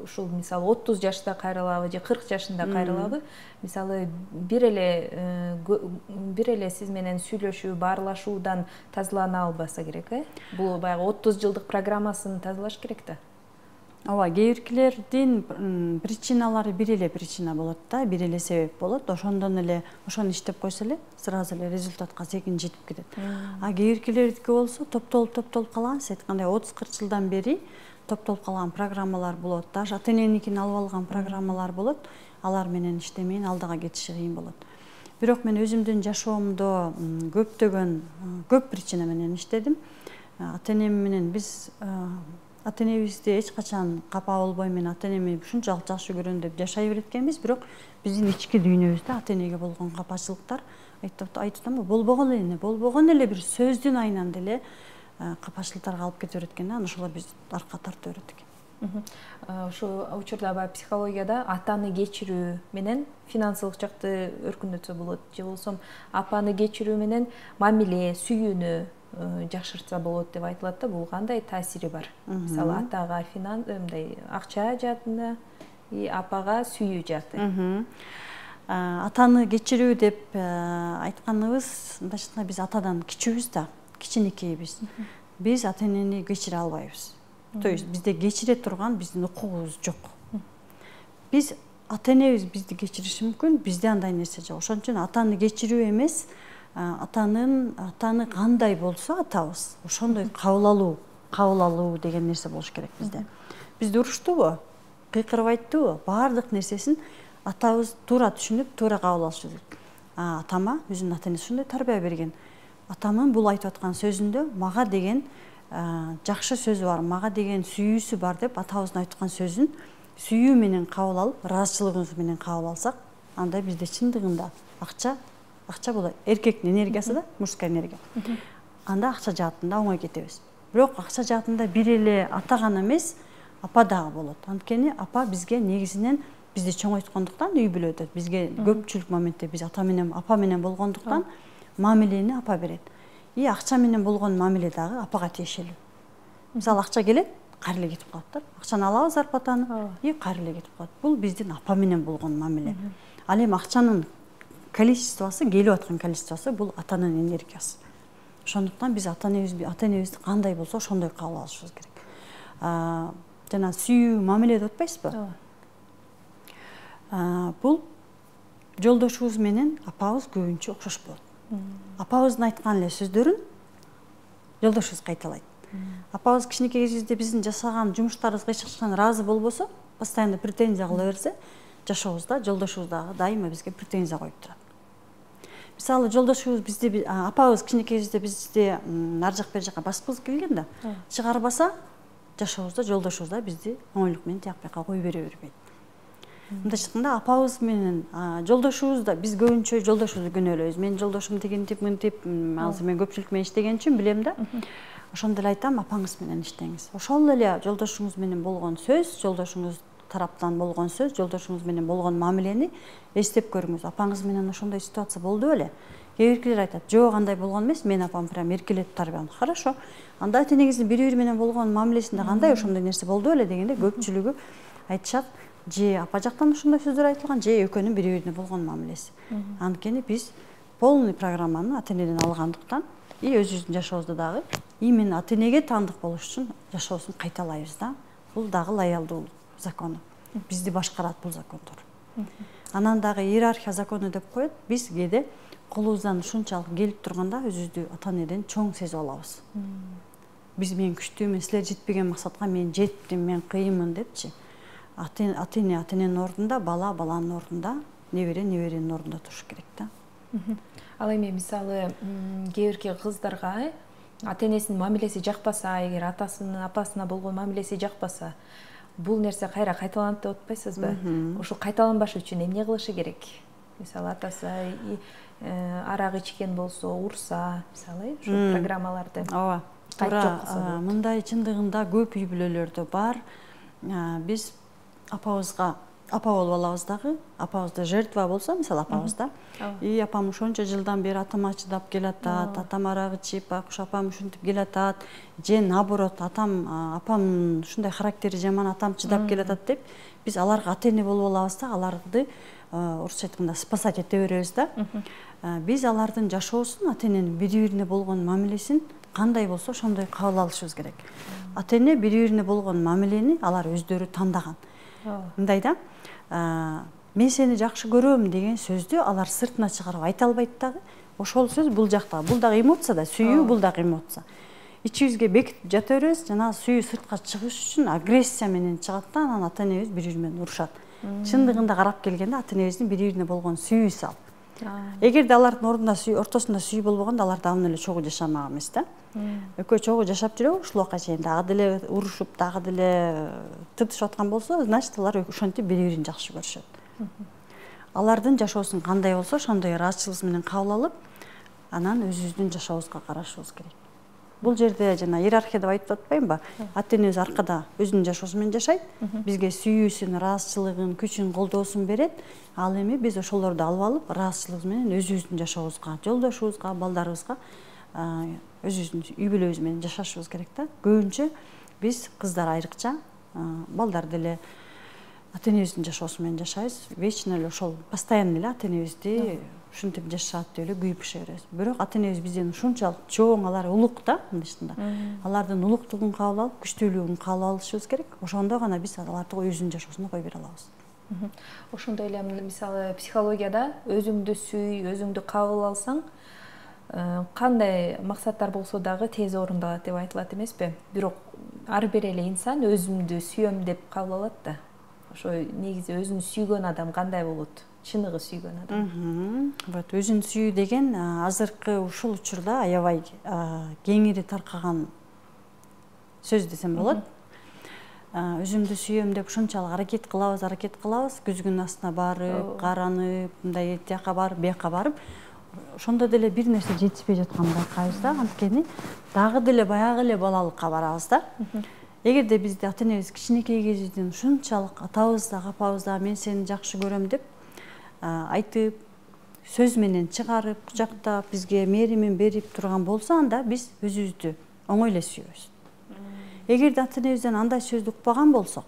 ушул мисалы отуз жашта кайрылабы же кырк жашында кайрылабы, мисалы бир эле бир эле сиз менен сүйлөшүү, баарлашуудан тазалана албаса керек, э? Бул баягы отуз жылдык программасын тазалаш керек да. Ооба, кээ биркилердин причиналары бир эле причина болот да, бир эле себеп болот. Ошондон эле ошону иштеп койсо эле сразу эле результатка секин жетип кетет. А кээ биркилердики болсо топтолуп топтолуп калган, сиз айткандай отуз кырк жылдан бери топтолуп калган программалар болот. Даже ата-эненикин алып алган программалар болот. Алар менен иштемейин алдыга кетиши кыйын болот. Бирок мен өзүмдүн жашоомдо көптөгөн көп причина менен иштедим. Ата-энем менен биз ата-энебизди эч качан капа болбой, мен ата-энеми ушунчалык жакшы көрөм деп жашай береткенбиз, бирок биздин ички дүйнөбүздө ата-энеге болгон капачылыктар айтып атамбы, болбогон эле, болбогон эле бир сөздүн айынан деле капачылыктарга алып кете берет экен да, ошолор бизди аркка тартып берет экен. Ушу учурда баягы психологияда атаны кечирүү менен финансылык жакты өркүндөтсө болот, же болсо апаны кечирүү менен мамиле, сүйүүнү жакшыртса болот деп айтылат да, бул кандай таасири бар? Мисалы атага финанс, мындай акча жаатында, апага сүйүү жааты. Атаны кечирүү деп айтканыбыз, мындайча биз атадан кичүүбүз да, кичинекейбиз. Биз ата-энени кечире албайбыз. То есть бизде кечире турган биздин укугубуз жок. Биз ата-энебиз бизди кечириши мүмкүн, бизде андай нерсе жок. Ошон үчүн атаны кечирүү эмес, атанын атаны кандай болсо атабыз, ошондой кабыл алуу, кабыл алуу деген нерсе болуш керек бизде. Бизди уруштубу, кыйкырбайттыбы, баардык нерсесин атабыз туура түшүнүп, туура кабыл алышы керек. Атама өзүнүн ата-энеси ушундай тарбия берген. Атамын бул айтып аткан сөзүндө мага деген жакшы сөзү бар, мага деген сүйүүсү бар деп атабыздын айткан сөзүн сүйүү менен кабыл алып, ыраазычылыгыбыз менен кабыл алсак, анда бизде чындыгында акча акча бул эркектин энергиясы да, мужская энергия. Анда акча жаатында оңой кетебиз. Бирок акча жаатында бир эле ата гана эмес, апа дагы болот. Анткени апа бизге негизинен бизди чоңойткондуктан үй бүлөдө бизге көпчүлүк моментте биз ата менен, апа менен болгондуктан мамилени апа берет. И акча менен болгон мамиле дагы апага тиешелүү. Мисалы акча келет, кайра эле кетип калат да. Акчаны алабыз зарплатаны, и кайра эле кетип калат. Бул биздин апа менен болгон мамиле. Ал эми акчанын количествосы, келип аткан количествосы бул атанын энергиясы. Ошондуктан биз ата энебизди ата энебизди кандай болсо ошондой кабыл алышыбыз керек. Жана сүйүү, мамиле деп атпайсызбы? Ооба. Бул жолдошубуз менен апабыз көбүнчө окшош болот. Апабыздын айткан эле сөздөрүн жолдошубуз кайталайт. Апабыз кичинекей кезибизде биздин жасаган жумуштарыбызга эч качан ыраазы болбосо, постоянно претензия кыла берсе, жашообузда жолдошубуз дагы дайыма бизге претензия коюп турат. Мисалы, жолдошубуз бизди, апабыз кичинекей кезибизде бизди ар жак бер жака баскыбыз келген да, чыгарбаса, жашообузда жолдошубуз да бизди оңойлук менен тияк бияка кое бере бербейт. Мындайча айтканда, апабыз менен жолдошубуз да, биз көбүнчө жолдошубузду күнөөлөйбүз. Менин жолдошум тигинтип, мынтип, азыр мен көпчүлүк менен иштеген үчүн билем да. Ошондо эле айтам, апаңыз менен иштеңиз. Ошол эле жолдошуңуз менен болгон сөз, жолдошуңуз тараптан болгон сөз, жолдошуңуз менен болгон мамилени эстеп көрүңүз. Апаңыз менен ошондой ситуация болду беле? Кээ биркилер айтат, жок, андай болгон эмес, мен апам прям эркелетип тарбиям. Хорошо. Анда ата энеңиздин бири-бири менен болгон мамилесинде кандай ошондой нерсе болду беле дегенде көпчүлүгү айтышат, же апа жактан ошондой сөздөр айтылган, же экөөнүн бири-бирине болгон мамилеси. Анткени биз полный программаны ата энеден алгандыктан и өзүбүздүн жашообузда дагы именно ата энеге таандык болуш үчүн жашообузду кайталайбыз да. Бул дагы лоялдуулук закону. Бизди башкарат бул закондор. Анан дагы иерархия закону деп коет. Биз кээде колубуздан ушунчалык келип турганда өзүбүздү ата энеден чоң сезип алабыз. Биз мен күчтүүмүн, силер жетпеген максатка мен жеттим, мен кыйынмын депчи. Ата эне ата эненин ордунда, бала баланын ордунда, небере неберенин ордунда туруш керек да. Ал эми мисалы кээ бирки кыздарга ата энесинин мамилеси жакпаса, эгер атасынын апасына болгон мамилеси жакпаса, бул нерсе кайра кайталанат деп атпайсызбы? Ошо кайталанбаш үчүн эмне кылышы керек? Мисалы атасы арак ичкен болсо, урса, мисалы, ушул программаларды. Ооба. Туура, мындай чындыгында көп үй бүлөлөрдө бар. Биз апабызга апа болуп алабыз дагы, апабызда жертва болсо, мисалы апабызда, и апам ошончо жылдан бери атама чыдап келатат, атам арак ичип, акуш апам ушинтип келатат, же наоборот, атам апам ушундай характери жаман, атам чыдап келатат деп, биз аларга ата эне болуп алабыз да, аларды орусча айтканда спасать эте беребиз да. Биз алардын жашоосун, ата эненин бири-бирине болгон мамилесин кандай болсо ошондой кабыл алышыбыз керек. Ата эне бири-бирине болгон мамилени алар өздөрү тандаган. Мындай да, мен сени жакшы көрөм деген сөздү алар сыртына чыгарып айта албайт дагы. Ошол сөз бул жакта, бул дагы эмоция да, сүйүү бул дагы эмоция. Ичибизге бекитип жата беребиз, жана сүйүү сыртка чыгыш үчүн агрессия менен чыгат да, анан ата энебиз бири-бири менен урушат. Чындыгында карап келгенде ата энебиздин бири-бирине болгон сүйүүсү ал. Эгерде алардын ордунда сүйүү, ортосунда сүйүү болбогондо алар дагы эле чогуу жашамак эмес да. Экөө чогуу жашап жүрөбү, ушул убакка чейин дагы деле урушуп, дагы деле тыртышып аткан болсо, значит алар ошентип бири-бирин жакшы көрүшөт. Алардын жашоосун кандай болсо, ошондой ыраазычылык менен кабыл алып, анан өзүбүздүн жашообузга карашыбыз керек. Бул жерде жана иерархия деп айтып атпаймынбы? Ата энебиз аркада өзүнүн жашоосу менен жашайт, бизге сүйүүсүн, ыраазычылыгын, күчүн, колдоосун берет. Ал эми биз ошолорду алып алып, ыраазычылыгыбыз менен өзүбүздүн жашообузга, жолдошубузга, балдарыбызга, өзүбүздүн үй бүлөбүз менен жашашыбыз керек да. Көбүнчө биз кыздар айрыкча, балдар деле ата энебиздин жашоосу менен жашайбыз. Вечно эле ошол постоянно эле ата энебизди ушинтип жашашат деп эле күйүп быша беребиз. Бирок ата энебиз бизден ушунчалык чоң, алар улук да, мындайча. Алардын улуктугун кабыл алып, күчтүүлүгүн кабыл алышыбыз керек. Ошондо гана биз аларды өзүнүн жашоосуна кое бере алабыз. Ошондой эле мисалы психологияда өзүңдү сүй, өзүңдү кабыл алсаң, кандай максаттар болсо дагы тез орундалат деп айтылат эмеспи? Бирок ар бир эле инсан өзүмдү сүйөм деп кабыл алат да. Ошо негизи өзүн сүйгөн адам кандай болот? Чыныгы сүйгөн адам. Вот өзүн сүйүү деген азыркы ушул учурда аябай кеңири таркаган сөз десем болот. Өзүмдү сүйөм деп ушунчалык аракет кылабыз, аракет кылабыз, күзгүнүн астына барып, каранып, мындай тияка барып, бияка барып, ошондо деле бир нерсе жетишпей жатканын байкайбыз да, анткени дагы деле баягы эле балалыкка барабыз да. Эгерде бизди ата энебиз кичинекей кезибизден ушунчалык атабыз да, апабыз да мен сени жакшы көрөм деп айтып, сөз менен чыгарып, кучактап, бизге мээримин берип турган болсо, анда биз өзүбүздү оңой эле сүйөбүз. Эгерде ата энебизден андай сөздү укпаган болсок,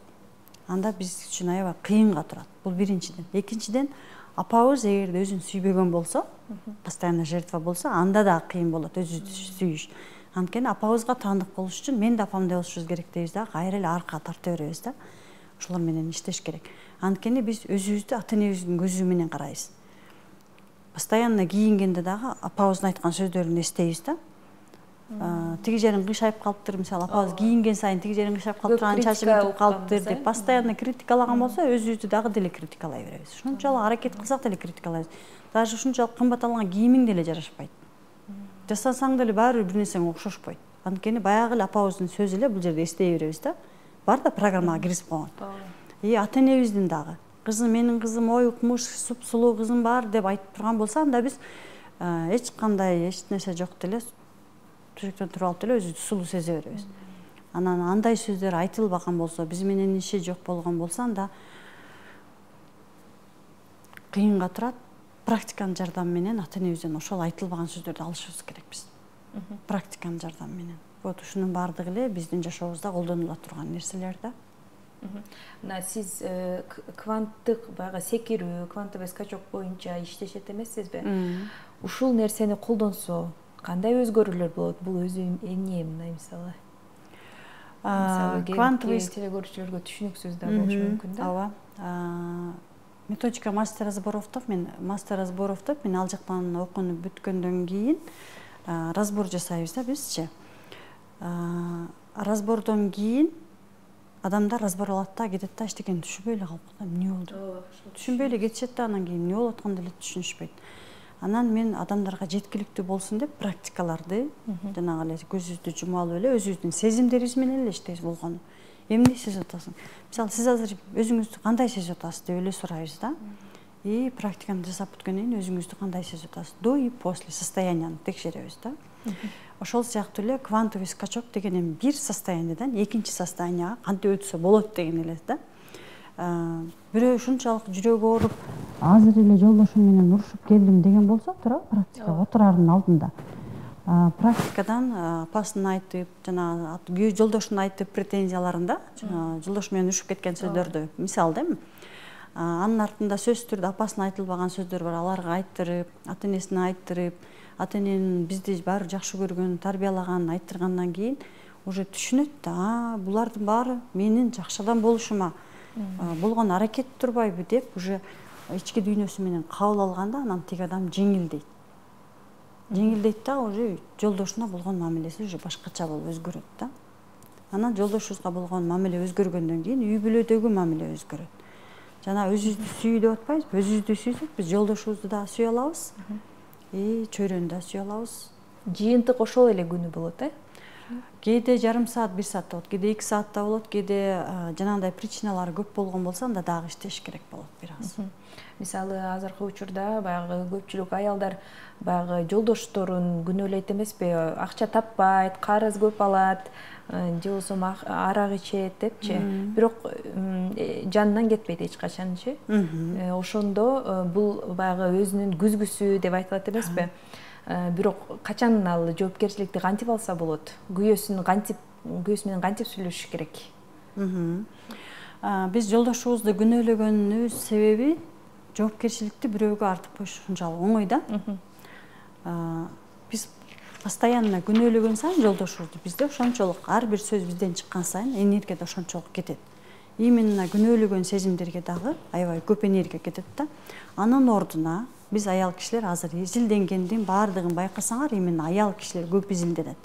анда биз үчүн аябай кыйынга турат. Бул биринчиден. Экинчиден, апабыз эгерде өзүн сүйбөгөн болсо, постоянно жертва болсо, анда да кыйын болот өзүбүздү сүйүш. Анткени апабызга таандык болуш үчүн мен да апамдай болушубуз керек дейбиз да, кайра эле арка тарта беребиз да. Ошолор менен иштеш керек. Анткени биз өзүбүздү ата энебиздин көзү менен карайбыз. Постоянно кийингенде дагы апабыздын айткан сөздөрүн эстейбиз да. Тиги жерин кыйшайып калыптыр, мисалы апабыз кийинген сайын тиги жерин кыйшайып калыптыр, анын чачы бүтүп калыптыр деп постоянно критикалаган болсо, өзүбүздү дагы деле критикалай беребиз. Ушунчалык аракет кылсак деле критикалайбыз. Даже ушунчалык кымбат алган кийимиң деле жарашпайт. Жасасаң деле баары бир нерсең окшошпойт. Анткени баягы эле апабыздын сөзү эле бул жерде эстей беребиз да. Бар да программага киргизип койгон. И ата энебиздин дагы кызым, менин кызым ой укмуш, суп-сулуу кызым бар деп айтып турган болсо, анда биз эч кандай эч нерсе жок деле төшөктөн туруп алып деле өзүбүздү сулуу сезе беребиз. Анан андай сөздөр айтылбаган болсо, биз менен иши жок болгон болсо, анда кыйынга турат. Практиканын жардамы менен ата энебизден ошол айтылбаган сөздөрдү алышыбыз керек биз. Практиканын жардамы менен. Вот ушунун баардыгы эле биздин жашообузда колдонула турган нерселер да. Мына сиз кванттык баягы секирүү, квантовый скачок боюнча иштешет эмессизби? Ушул нерсени колдонсо кандай өзгөрүүлөр болот? Бул өзү эмне мына мисалы? Квантовый телегөрүүчүлөргө түшүнүксүз да болушу мүмкүн да. Ооба. Методика мастер разборовдоп, мен мастер разборовдоп, мен ал жактан окууну бүткөндөн кийин разбор жасайбыз да бизчи. Разбордон кийин адамдар разбор алат да, кетет да, эчтекени түшүнбөй эле калып калат. Эмне болду? Түшүнбөй эле кетишет да, анан кийин эмне болуп атканын деле түшүнүшпөйт. Анан мен адамдарга жеткиликтүү болсун деп практикаларды жанагы эле көзүбүздү жума алып эле өзүбүздүн сезимдерибиз менен эле иштейбиз болгону. Эмне сезип атасың? Мисалы, сиз азыр өзүңүздү кандай сезип атасыз деп эле сурайбыз да. И практиканы жасап бүткөндөн кийин өзүңүздү кандай сезип атасыз? До и после состоянияны текшеребиз да. Ошол сыяктуу эле квантовый скачок деген эми бир состояниядан экинчи состоянияга кантип өтсө болот деген эле да. Бирөө ушунчалык жүрөгү ооруп, азыр эле жолдошум менен урушуп келдим деген болсо, туура практикага отурардын алдында практикадан апасын айтып, жана жолдошун айтып претензияларын да, жолдошу менен урушуп кеткен сөздөрдү мисал да эми. Анын артында сөзсүз түрдө апасына айтылбаган сөздөр бар, аларга айттырып, ата энесине айттырып, ата эненин бизди баары жакшы көргөн, тарбиялаганын айттыргандан кийин уже түшүнөт да, булардын баары менин жакшы адам болушума болгон аракет турбайбы деп уже ички дүйнөсү менен кабыл алганда, анан тиги адам жеңилдейт. Жеңилдейт да, уже жолдошуна болгон мамилеси уже башкача болуп өзгөрөт да. Анан жолдошубузга болгон мамиле өзгөргөндөн кийин үй бүлөдөгү мамиле өзгөрөт. Жана өзүбүздү сүй деп атпайбызбы? Өзүбүздү сүйсөк, биз жолдошубузду да сүйө алабыз, и чөйрөнү да сүйө алабыз. Жыйынтык ошол эле күнү болот, э? Кээде жарым саат, бир саат болот, кээде эки саатта болот, кээде жанагындай причиналары көп болгон болсо, анда дагы иштеш керек болот бир аз. Мисалы, азыркы учурда баягы көпчүлүк аялдар баягы жолдошторун күнөөлөйт эмеспи? Акча таппайт, карыз көп алат, же болбосо арак ичет депчи. Бирок жанынан кетпейт эч качанчы. Ошондо бул баягы өзүнүн күзгүсү деп айтылат эмеспи? Бирок качан ал жоопкерчиликти кантип алса болот? Күйөөсүн кантип, күйөөсү менен кантип сүйлөшүш керек? Биз жолдошубузду күнөөлөгөнүбүз себеби жоопкерчиликти бирөөгө артып коюш ушунчалык оңой да. Биз постоянно күнөөлөгөн сайын жолдошубузду бизде ошончолук ар бир сөз бизден чыккан сайын энергия да ошончолук кетет. Именно күнөөлөгөн сезимдерге дагы аябай көп энергия кетет да. Анын ордуна биз аял кишилер азыр изилденгендин баардыгын байкасаңар, именно аял кишилер көп изилденет.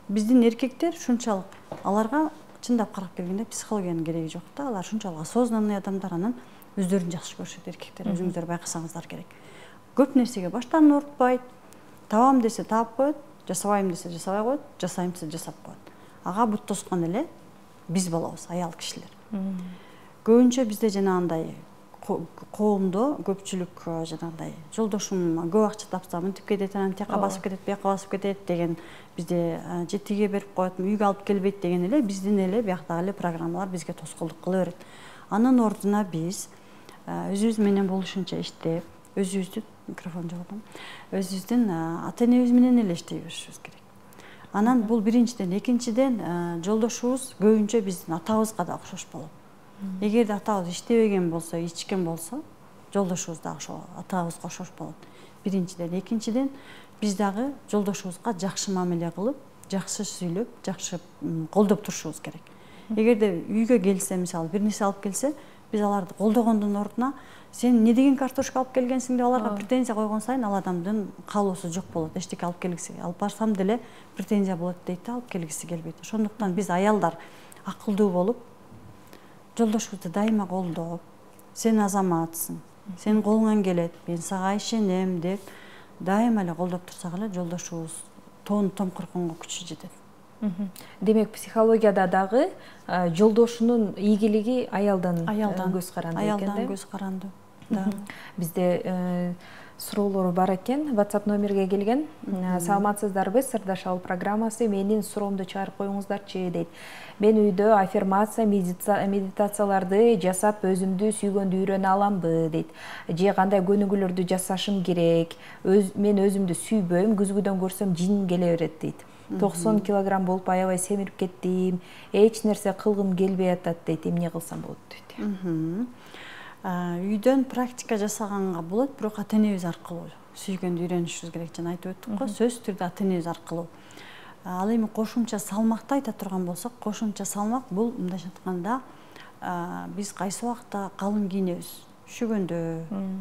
Биздин эркектер ушунчалык, аларга чындап карап келгенде психологиянын кереги жок да. Алар ушунчалык осознанный адамдар, анан өздөрүн жакшы көрүшөт эркектер, өзүңүздөр байкасаңыздар керек. Көп нерсеге баштарын оорутпайт, табам десе таап коет, жасабайм десе жасабай коет, жасайм десе жасап коет. Ага бут тоскон эле биз болобуз, аял кишилер. Көбүнчө бизде жанагындай коомдо көпчүлүк жанагындай жолдошум көп акча тапса мынтип кетет, анан тияка басып кетет, бияка басып кетет деген бизде же тиге берип коет, үйгө алып келбейт деген эле биздин эле бияктагы эле программалар бизге тоскоолдук кыла берет. Анын ордуна биз өзүбүз менен болушунча иштеп, өзүбүздү микрофон жоготом, өзүбүздүн ата энебиз менен эле иштей беришибиз керек. Анан бул биринчиден, экинчиден жолдошубуз көбүнчө биздин атабызга да окшош болот. Эгерде атабыз иштебеген болсо, ичкен болсо, жолдошубуз дагы ошо атабызга окшош болот. Биринчиден, экинчиден биз дагы жолдошубузга жакшы мамиле кылып, жакшы сүйлөп, жакшы колдоп турушубуз керек. Эгерде үйгө келсе, мисалы бир нерсе алып келсе, биз аларды колдогондун ордуна сен эмне деген картошка алып келгенсиң деп аларга претензия койгон сайын ал адамдын каалоосу жок болот. Эчтеке алып келгиси, алып барсам деле претензия болот дейт да, алып келгиси келбейт. Ошондуктан биз аялдар акылдуу болуп, жолдошубузду дайыма колдоп, сен азаматсың, сенин колуңан келет, мен сага ишенем деп дайыма эле колдоп турсак эле жолдошубуз тоонун томкуркунга күчү жетет. Демек, психологияда дагы жолдошунун ийгилиги аялдан көз каранды экен да? Аялдан көз каранды. Бизде суроолор бар экен, WhatsApp номерге келген. Саламатсыздарбы, Сырдашалы программасы, менин суроомду чыгарып коюңуздарчы дейт. Мен үйдө аффирмация, медитацияларды жасап өзүмдү сүйгөндү үйрөнө аламбы дейт. Же кандай көнүгүүлөрдү жасашым керек? Мен өзүмдү сүйбөйм, күзгүдөн көрсөм жин келе берет дейт. токсон килограмм болуп аябай семирип кеттим, эч нерсе кылгым келбей атат дейт. Эмне кылсам болот дейт. Үйдөн практика жасаганга болот, бирок ата-энебиз аркылуу сүйгөндү үйрөнүшүбүз керек. Жана айтып өттүк го, сөзсүз түрдө ата-энебиз аркылуу. Ал эми кошумча салмакты айта турган болсок, кошумча салмак бул мындайча айтканда биз кайсы убакта калың кийинебиз, üşүгөндө,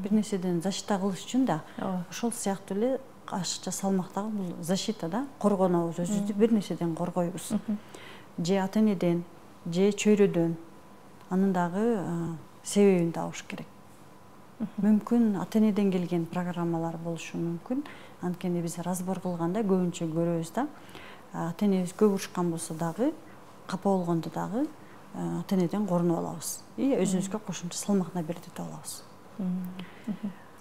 бир нерседен защита кылыш үчүн да. Ошол сыяктуу эле ашыкча салмактагы бул защита да, коргонобуз, өзүбүздү бир нерседен коргойбуз. Же ата-энеден, же чөйрөдөн. Анын дагы себебин табыш керек. Мүмкүн ата-энеден келген программалар болушу мүмкүн. Анткени биз разбор кылганда көбүнчө көрөбүз да. Ата-энебиз көп урушкан болсо дагы, капа болгондо дагы ата-энеден корунуп алабыз. И өзүбүзгө кошумча салмак бердитип алабыз.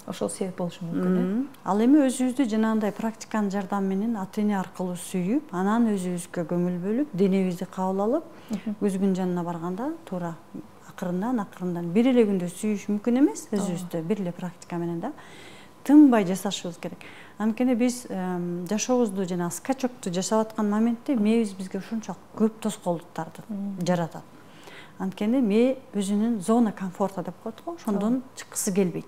Ошол себеп болушу мүмкүн. Ал эми өзүбүздү жанагындай практиканын жардамы менен ата-эне аркылуу сүйүп, анан өзүбүзгө көңүл бөлүп, денебизди кабыл алып, көзгүнүн жанына барганда туура акырындан акырындан бир эле күндө сүйүш мүмкүн эмес, өзүбүздү бир эле практика менен да тынбай жасашыбыз керек. Анткени биз жашообузду жана скачокту жашап аткан моментте мээбиз бизге ушунчалык көп тоскоолдуктарды жаратат. Анткени мээ өзүнүн зона комфорта деп коет го, ошондон чыккысы келбейт.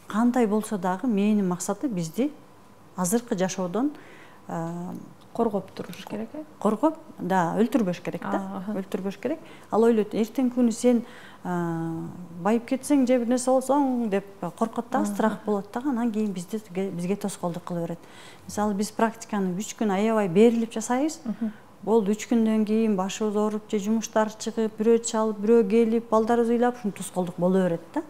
Кандай болсо дагы мээнин максаты бизди азыркы жашоодон коргоп туруш керек, э? Коргоп, да, өлтүрбөш керек да. Өлтүрбөш керек. Ал ойлойт, эртең күнү сен байып кетсең же бир нерсе болсоң деп коркот да, страх болот да, анан кийин бизди бизге тоскоолдук кыла берет. Мисалы биз практиканы үч күн аябай берилип жасайбыз. Болду үч күндөн кийин башыбыз ооруп же жумуштар чыгып, бирөө чалып, бирөө келип, балдарыбыз ыйлап, ушун тоскоолдук боло берет да.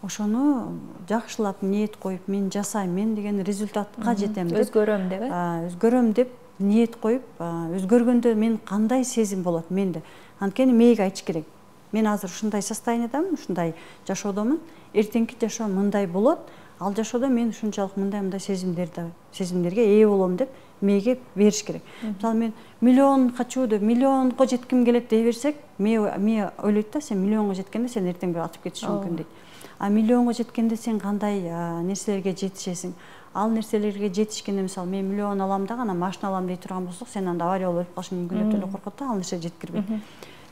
Ошону жакшылап ниет коюп, мен жасайм, мен деген результатка жетем деп, өзгөрөм деп, э? Өзгөрөм деп ниет коюп, өзгөргөндө мен кандай сезим болот менде. Анткени мээге айтыш керек. Мен азыр ушундай состояниедамын, ушундай жашоодомун. Эртеңки жашоо мындай болот. Ал жашоодо мен ушунчалык мындай-мындай сезимдерди, сезимдерге ээ болом деп мээге бериш керек. Мисалы мен миллион хочу деп миллионго жетким келет дей берсек, мээ мээ ойлойт да, сен миллионго жеткенде сен эртең бир атып кетишиң мүмкүн дейт. А миллионго жеткенде сен кандай нерселерге жетишесиң? Ал нерселерге жетишкенде, мисалы, мен миллион алам дагы, анан машина алам дей турган болсок, сен анда авария болуп өлүп калышың мүмкүн деп эле коркот да, ал нерсе жеткирбейт.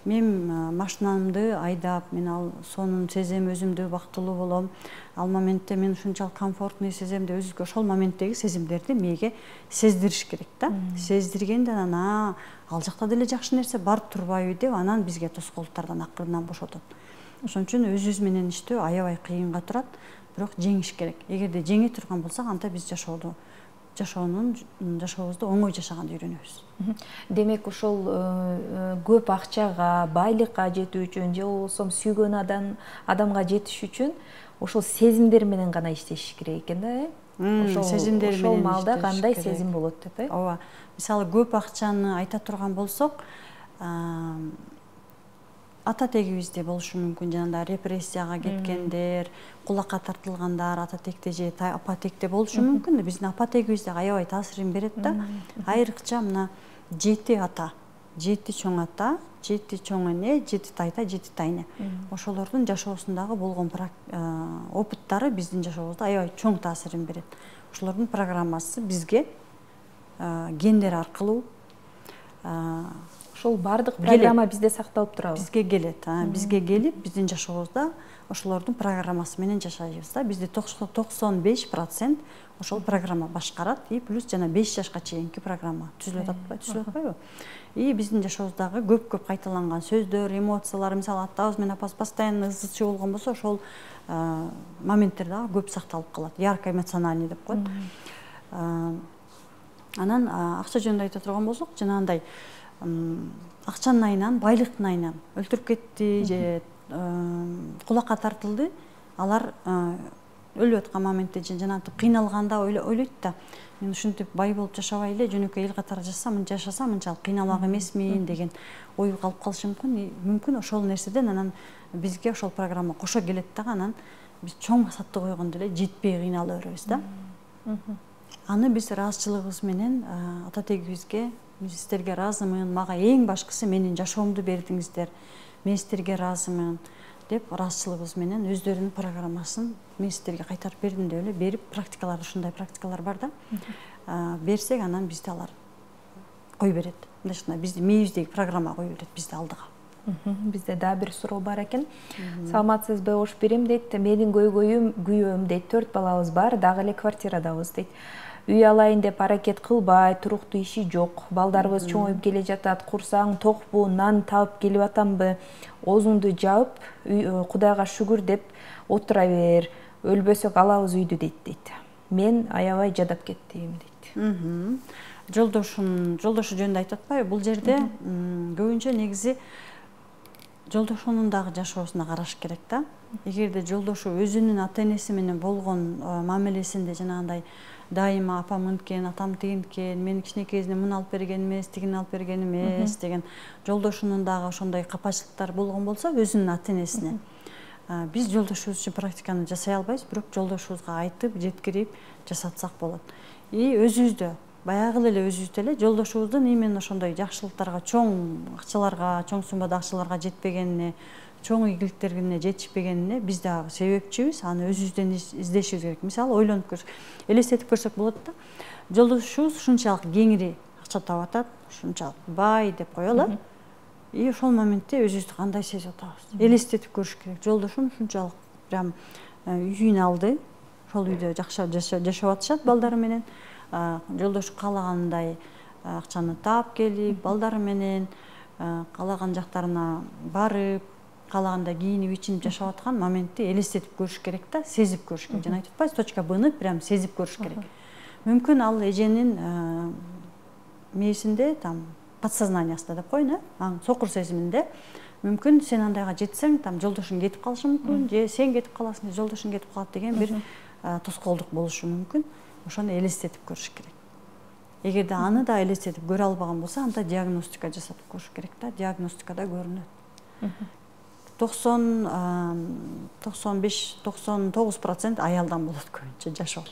Мен машинамды айдап, мен ал сонун сезем, өзүмдү бактылуу болом. Ал моментте мен ушунчалык комфортный сезем деп өзүгө ошол моменттеги сезимдерди мээге сездириш керек да. Сездиргенде анан ал жакта деле жакшы нерсе бар турбайбы деп анан бизге тоскоолдуктардан акырындан бошотот. Ошон үчүн өзүбүз менен иштөө аябай кыйынга турат, бирок жеңиш керек. Эгерде жеңе турган болсок, анда биз жашоодо жашоонун жашообузду оңой жашаганды үйрөнөбүз. Демек, ошол көп акчага, байлыкка жетүү үчүн же болбосо сүйгөн адам адамга жетиш үчүн ошол сезимдер менен гана иштеш керек экен да, э? Ошол сезимдер менен ошол маалда кандай сезим болот деп, э? Ооба. Мисалы, көп акчаны айта турган болсок, ата тегибизде болушу мүмкүн, жанагындай репрессияга кеткендер, кулакка тартылгандар, ата текте же апа текте болушу мүмкүн. Биздин апа тегибизде аябай таасирин берет да. Айрыкча мына жети ата, жети чоң ата, жети чоң эне, жети тайта, жети тайне. Ошолордун жашоосундагы болгон опыттары биздин жашообузда аябай чоң таасирин берет. Ошолордун программасы бизге гендер аркылуу ошол баардык программа бизде сакталып турабы? Бизге келет, бизге келип, биздин жашообузда ошолордун программасы менен жашайбыз да. Бизде токсон беш процент ошол программа башкарат, и плюс жана беш жашка чейинки программа түзүлүп атпайбы, түзүлүп атпайбы? И биздин жашообуздагы көп-көп кайталанган сөздөр, эмоциялар, мисалы атабыз менен апабыз постоянно ызы-чуу болгон болсо, ошол моменттер дагы көп сакталып калат. Ярко эмоциональный деп коет. Анан акча жөнүндө айта турган болсок, жанагындай акчанын айынан, байлыктын айынан өлтүрүп кетти же кулакка тартылды, алар өлүп аткан моментте жанагынтип кыйналганда ойлойт да, мен ушинтип бай болуп жашабай эле жөнөкөй эл катары жашасам, жашасам мынчалык кыйналмак эмесмин деген ой калып калышы мүмкүн. Мүмкүн ошол нерседен анан бизге ошол программа кошо келет дагы, анан биз чоң максатты койгондо эле жетпей кыйнала беребиз да. Аны биз ыраазычылыгыбыз менен ата тегибизге, мен сиздерге ыраазымын, мага эң башкысы менин жашоомду бердиңиздер, мен сиздерге ыраазымын деп ыраазычылыгыбыз менен өздөрүнүн программасын мен сиздерге кайтарып бердим деп эле берип, практикалар ушундай практикалар бар да. Берсек, анан бизди алар кой берет. Мындайча бизди мээбиздеги программа кой берет бизди алдыга. Бизде дагы бир суроо бар экен. Саламатсызбы, ош берем дейт. Менин көйгөйүм, күйөөм дейт, төрт балабыз бар, дагы эле квартирадабыз дейт. Үй алайын деп аракет кылбай, туруктуу иши жок. Балдарыбыз чоңоюп келе жатат. Курсаң токпу, нан таап келип атамбы? Оозуңду жаап, Кудайга шүгүр деп отура бер. Өлбөсөк алабыз үйдү дейт дейт. Мен аябай жадап кеттим дейт. Жолдошун, жолдошу жөнүндө айтып атпайбы? Бул жерде көбүнчө негизи жолдошунун дагы жашоосуна караш керек да. Эгерде жолдошу өзүнүн ата энеси менен болгон мамилесинде жанагындай дайыма апам мынткен, атам тигинткен, мен кичинекей кезинен муну алып берген эмес, тигини алып берген эмес деген жолдошунун дагы ошондой капачылыктары болгон болсо өзүнүн ата энесине. Биз жолдошубуз үчүн практиканы жасай албайбыз, бирок жолдошубузга айтып, жеткирип жасатсак болот. И өзүбүздө баягы эле өзүбүздө эле жолдошубуздун именно ошондой жакшылыктарга, чоң акчаларга, чоң суммада акчаларга жетпегенине, чоң ийгиликтерине жетишпегенине биз дагы себепчибиз, аны өзүбүздөн издешибиз керек. Мисалы, ойлонуп көрсөк, элестетип көрсөк болот да. Жолдошубуз ушунчалык кеңири акча таап атат, ушунчалык бай деп коелу. И ошол моментте өзүбүздү кандай сезип атабыз? Элестетип көрүш керек. Жолдошум ушунчалык прям үйүн алды, ошол үйдө жакшы жашап атышат балдары менен. Жолдошу каалагандай акчаны таап келип, балдары менен каалаган жактарына барып, каалагандай кийинип, ичинип жашап аткан моментти элестетип көрүш керек да, сезип көрүш керек. Жана айтып атпайбыз, точка Б-ны прям сезип көрүш керек. Мүмкүн ал эженин мээсинде, там, подсознаниясында деп коеюн, э, сокур сезиминде. Мүмкүн сен андайга жетсең, там, жолдошуң кетип калышы мүмкүн, же сен кетип каласың, же жолдошуң кетип калат деген бир тоскоолдук болушу мүмкүн. Ошону элестетип көрүш керек. Эгерде аны да элестетип көрө албаган болсо, анда диагностика жасатып көрүш керек да, диагностикада көрүнөт. токсон токсон беш токсон тогуз процент аялдан болот көбүнчө жашоо.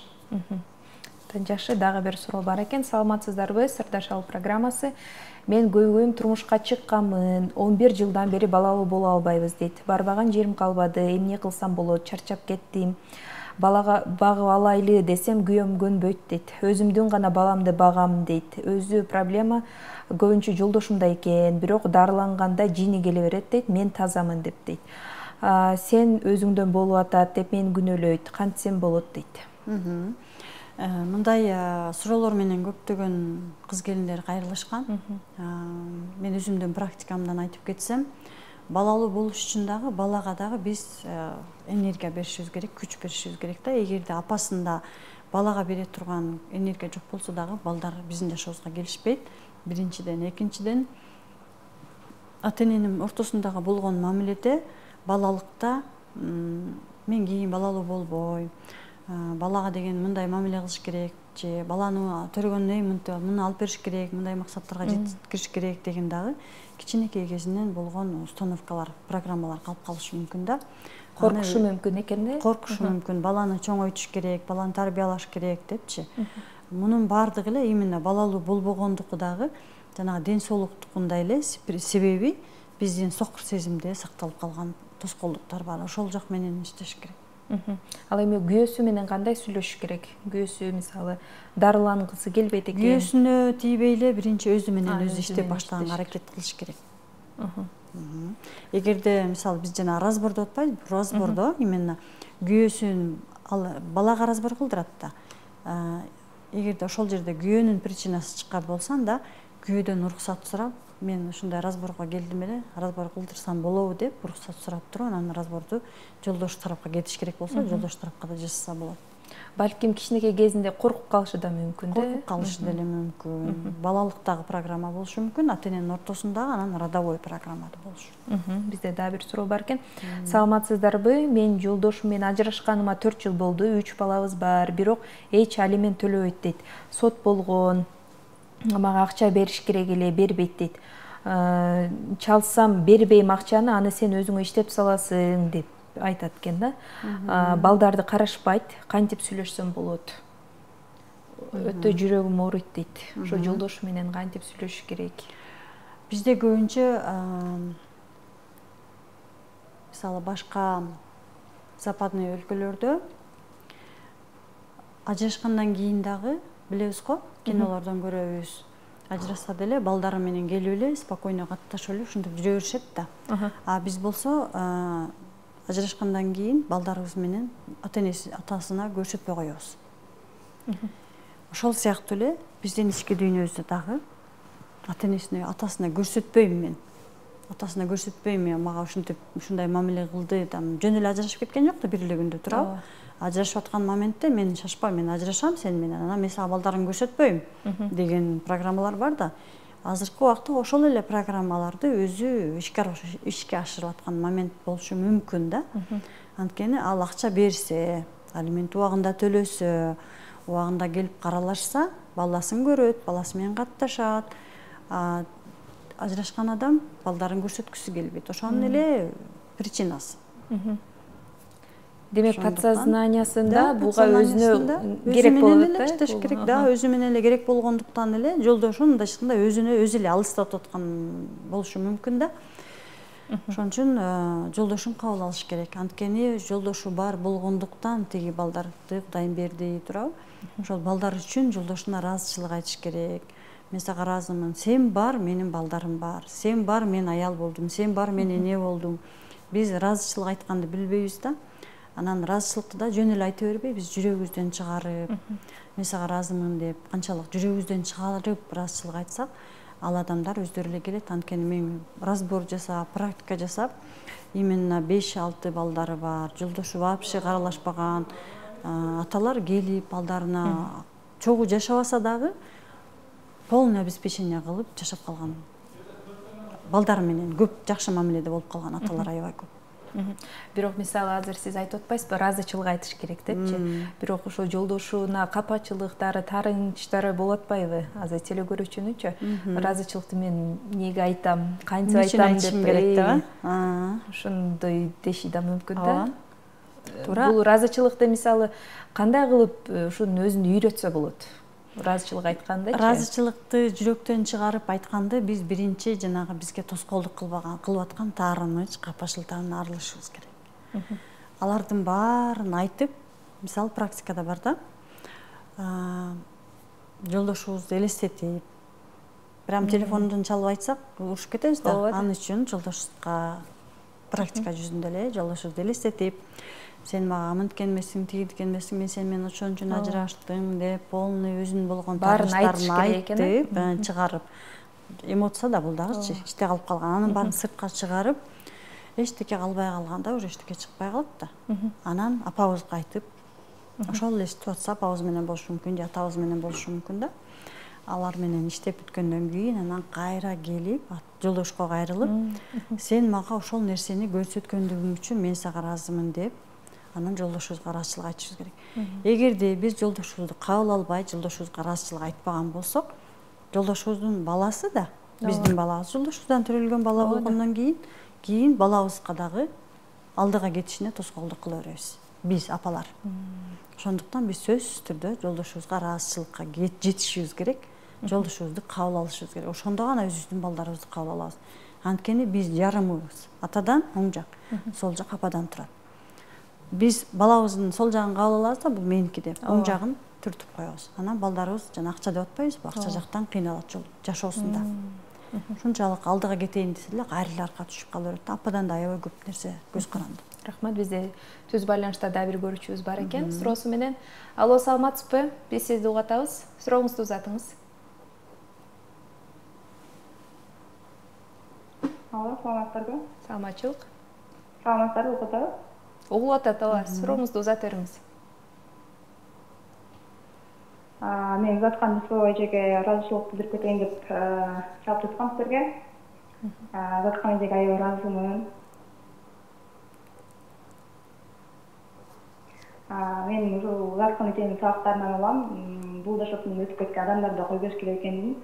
Жакшы, дагы бир суроо бар экен. Саламатсыздарбы? Сырдашалы программасы. Мен көйгөйүм, турмушка чыкканмын. он бир жылдан бери балалуу боло албайбыз дейт. Барбаган жерим калбады. Эмне кылсам болот? Чарчап кеттим. Балага багып алайлы десем күйөөм көнбөйт дейт. Өзүмдүн гана баламды багам дейт. Өзү проблема көбүнчө жолдошумда экен, бирок дарыланганда жини келе берет дейт. Мен тазамын деп дейт. Сен өзүңдөн болуп атат деп мени күнөөлөйт. Кантсем болот дейт. Мындай суроолор менен көптөгөн кыз келиндер кайрылышкан. Мен өзүмдүн практикамдан айтып кетсем, балалуу болуш үчүн дагы, балага дагы биз энергия беришибиз керек, күч беришибиз керек да. Эгерде апасында балага бере турган энергия жок болсо дагы, балдар биздин жашообузга келишпейт. Биринчиден, экинчиден, ата эненин ортосундагы болгон мамиледе, балалыкта мен кийин балалуу болбойм, балага деген мындай мамиле кылыш керек, же баланы төрөгөндөн кийин муну алып бериш керек, мындай максаттарга жеткириш керек деген дагы кичинекей кезинен болгон установкалар, программалар калып калышы мүмкүн да. Коркушу мүмкүн экен да? Коркушу мүмкүн. Баланы чоңойтуш керек, баланы тарбиялаш керек депчи. Мунун баардыгы эле именно балалуу болбогондуку дагы жанагы ден соолуктукундай эле себеби биздин сокур сезимде сакталып калган тоскоолдуктар бар. Ошол жак менен иштеш керек. Ал эми күйөөсү менен кандай сүйлөшүш керек? Күйөөсү мисалы дарылангысы келбейт экен. Күйөөсүнө тийбей эле биринчи өзү менен өзү иштеп баштаганга аракет кылыш керек. Эгерде мисалы биз жана разбордо атпайбы, разбордо именно күйөөсүн ал балага разбор кылдырат да. Эгерде ошол жерде күйөөнүн причинасы чыккан болсо анда күйөөдөн уруксат сурап, мен ушундай разборго келдим эле, разбор кылдырсам болобу деп уруксат сурап туруп, анан разборду жолдош тарапка кетиш керек болсо, жолдош тарапка да жасаса болот. Балким кичинекей кезинде коркуп калышы да мүмкүн да. Коркуп калышы деле мүмкүн. Балалыктагы программа болушу мүмкүн, ата-эненин ортосундагы, анан родовой программа да болушу. Бизде дагы бир суроо бар экен. Саламатсыздарбы? Мен жолдошум менен ажырашканыма төрт жыл болду, үч балабыз бар, бирок эч алимент төлөбөйт дейт. Сот болгон, мага акча бериш керек эле, бербейт дейт. Чалсам бербейм акчаны, аны сен өзүңө иштеп саласың деп айтат экен да. Балдарды карашпайт, кантип сүйлөшсөм болот? Өтө жүрөгүм ооруйт дейт. Ошо жолдошу менен кантип сүйлөшүш керек? Бизде көбүнчө мисалы башка западный өлкөлөрдө ажырашкандан кийин дагы билебиз го, кинолордон көрөбүз. Ажырашса деле балдары менен келип эле спокойно катташып эле ушинтип жүрө беришет да. А биз болсо ажырашкандан кийин балдарыбыз менен ата-энеси, атасына көрсөтпөй коебуз. Ошол сыяктуу эле биздин ички дүйнөбүздө дагы ата-энесине, атасына көрсөтпөйм мен. Атасына көрсөтпөйм, мага ушинтип ушундай мамиле кылды, там жөн эле ажырашып кеткен жок да, бир эле күндө турабы. Ажырашып аткан моментте мен шашпайм, мен ажырашам сен менен, анан мен сага балдарыңды көрсөтпөйм деген программалар бар да. Азыркы убакта ошол эле программаларды өзү ишке ашырып аткан момент болушу мүмкүн да. Анткени ал акча берсе, алимент убагында төлөсө, убагында келип каралашса, баласын көрөт, баласы менен катташат. Ажырашкан адам балдарын көрсөткүсү келбейт. Ошонун эле причинасы. Демек, подсознаниясында буга өзүнө керек болот да, иштеш керек да, өзү менен эле керек болгондуктан эле жолдошу мындайча өзүнө өзү эле алыстатып аткан болушу мүмкүн да. Ошон үчүн жолдошун кабыл алыш керек. Анткени жолдошу бар болгондуктан тиги балдарды Кудайым берди турабы. Ошол балдар үчүн жолдошуна ыраазычылык айтыш керек. Мен сага ыраазымын. Сен бар, менин балдарым бар. Сен бар, мен аял болдум. Сен бар, мен эне болдум. Биз ыраазычылык айтканды билбейбиз да. Анан ыраазычылыкты да жөн эле айта бербей, биз жүрөгүбүздөн чыгарып, мен сага ыраазымын деп, канчалык жүрөгүбүздөн чыгарып ыраазычылык айтсак, ал адамдар өздөрү эле келет. Анткени мен разбор жасап, практика жасап, именно беш алты балдары бар, жолдошу вообще каралашпаган аталар келип балдарына чогуу жашабаса дагы полное обеспечение кылып жашап калган. Балдары менен көп жакшы мамиледе болуп калган аталар аябай көп. Бирок мисалы азыр сиз айтып атпайсызбы, ыраазычылык айтыш керек депчи. Бирок ошо жолдошуна капачылыктары, таарынычтары болуп атпайбы? Азыр телекөрүүчүнүчү ыраазычылыкты мен эмнеге айтам, кантип айтам деп керек да. Ошондой деши да мүмкүн да. Туура. Бул ыраазычылыкты мисалы кандай кылып ушунун өзүн үйрөтсө болот? Ыраазычылык айткандычы? Ыраазычылыкты жүрөктөн чыгарып айтканды биз биринчи жанагы бизге тоскоолдук кылбаган, кылып аткан таарыныч, капачылыктан арылышыбыз керек. Алардын баарын айтып, мисалы практикада бар да. Жолдошубузду элестетип, прям телефондон чалып айтсак, урушуп кетебиз да. Ал үчүн жолдошубузга практика жүзүндө эле жолдошубузду элестетип, сен мага мынткен эмессиң, тигидкен эмессиң, мен сени менен ошон үчүн ажыраштым деп, полный өзүнүн болгон таарынычтарын айтып, чыгарып. Эмоция да бул дагычы, ичте калып калган. Анын баарын сыртка чыгарып, эчтеке калбай калганда уже эчтеке чыкпай калат да. Анан апабызга айтып, ошол эле ситуация апабыз менен болушу мүмкүн, же атабыз менен болушу мүмкүн да. Алар менен иштеп бүткөндөн кийин анан кайра келип, жолдошко кайрылып, сен мага ошол нерсени көрсөткөндүгүң үчүн мен сага ыраазымын деп, анан жолдошубузга ыраазычылык айтышыбыз керек. Эгерде биз жолдошубузду кабыл албай, жолдошубузга ыраазычылык айтпаган болсок, жолдошубуздун баласы да, биздин балабыз жолдошубуздан төрөлгөн бала болгондон кийин, кийин балабызга дагы алдыга кетишине тоскоолдук кыла беребиз. Биз апалар. Ошондуктан биз сөзсүз түрдө жолдошубузга ыраазычылыкка жетишибиз керек, жолдошубузду кабыл алышыбыз керек. Ошондо гана өзүбүздүн балдарыбызды кабыл алабыз. Анткени биз жарымыбыз. Атадан оң жак, сол жак ападан турат. биз балабыздын сол жагын кабыл алабыз да, бул меники деп, оң жагын түртүп коебуз. Анан балдарыбыз жана акча деп атпайбызбы, акча жактан кыйналат жол жашоосунда. Ушунчалык алдыга кетейин десе эле кайрылы арка түшүп кала берет. Ападан да аябай көп нерсе көз каранды. Рахмат, бизде түз байланышта дагы бир көрүүчүбүз бар экен, суроосу менен. Алло, саламатсызбы? Биз сизди угатабыз. Сурооңузду узатыңыз. Алло, саламатсыздарбы? Саламатчылык. Саламатсыздарбы, угуп атабыз? Угуп атат, ооба. Сурооңузду узата бериңиз. Мен узаткан ишке эжеге ыраазычылык билдирип кетейин деп чалып жаткам силерге. Узаткан эжеге аябай ыраазымын. Мен ушул узаткан эженин сабактарынан алам. Бул жашоодон өтүп кеткен адамдарды кой бериш керек экенин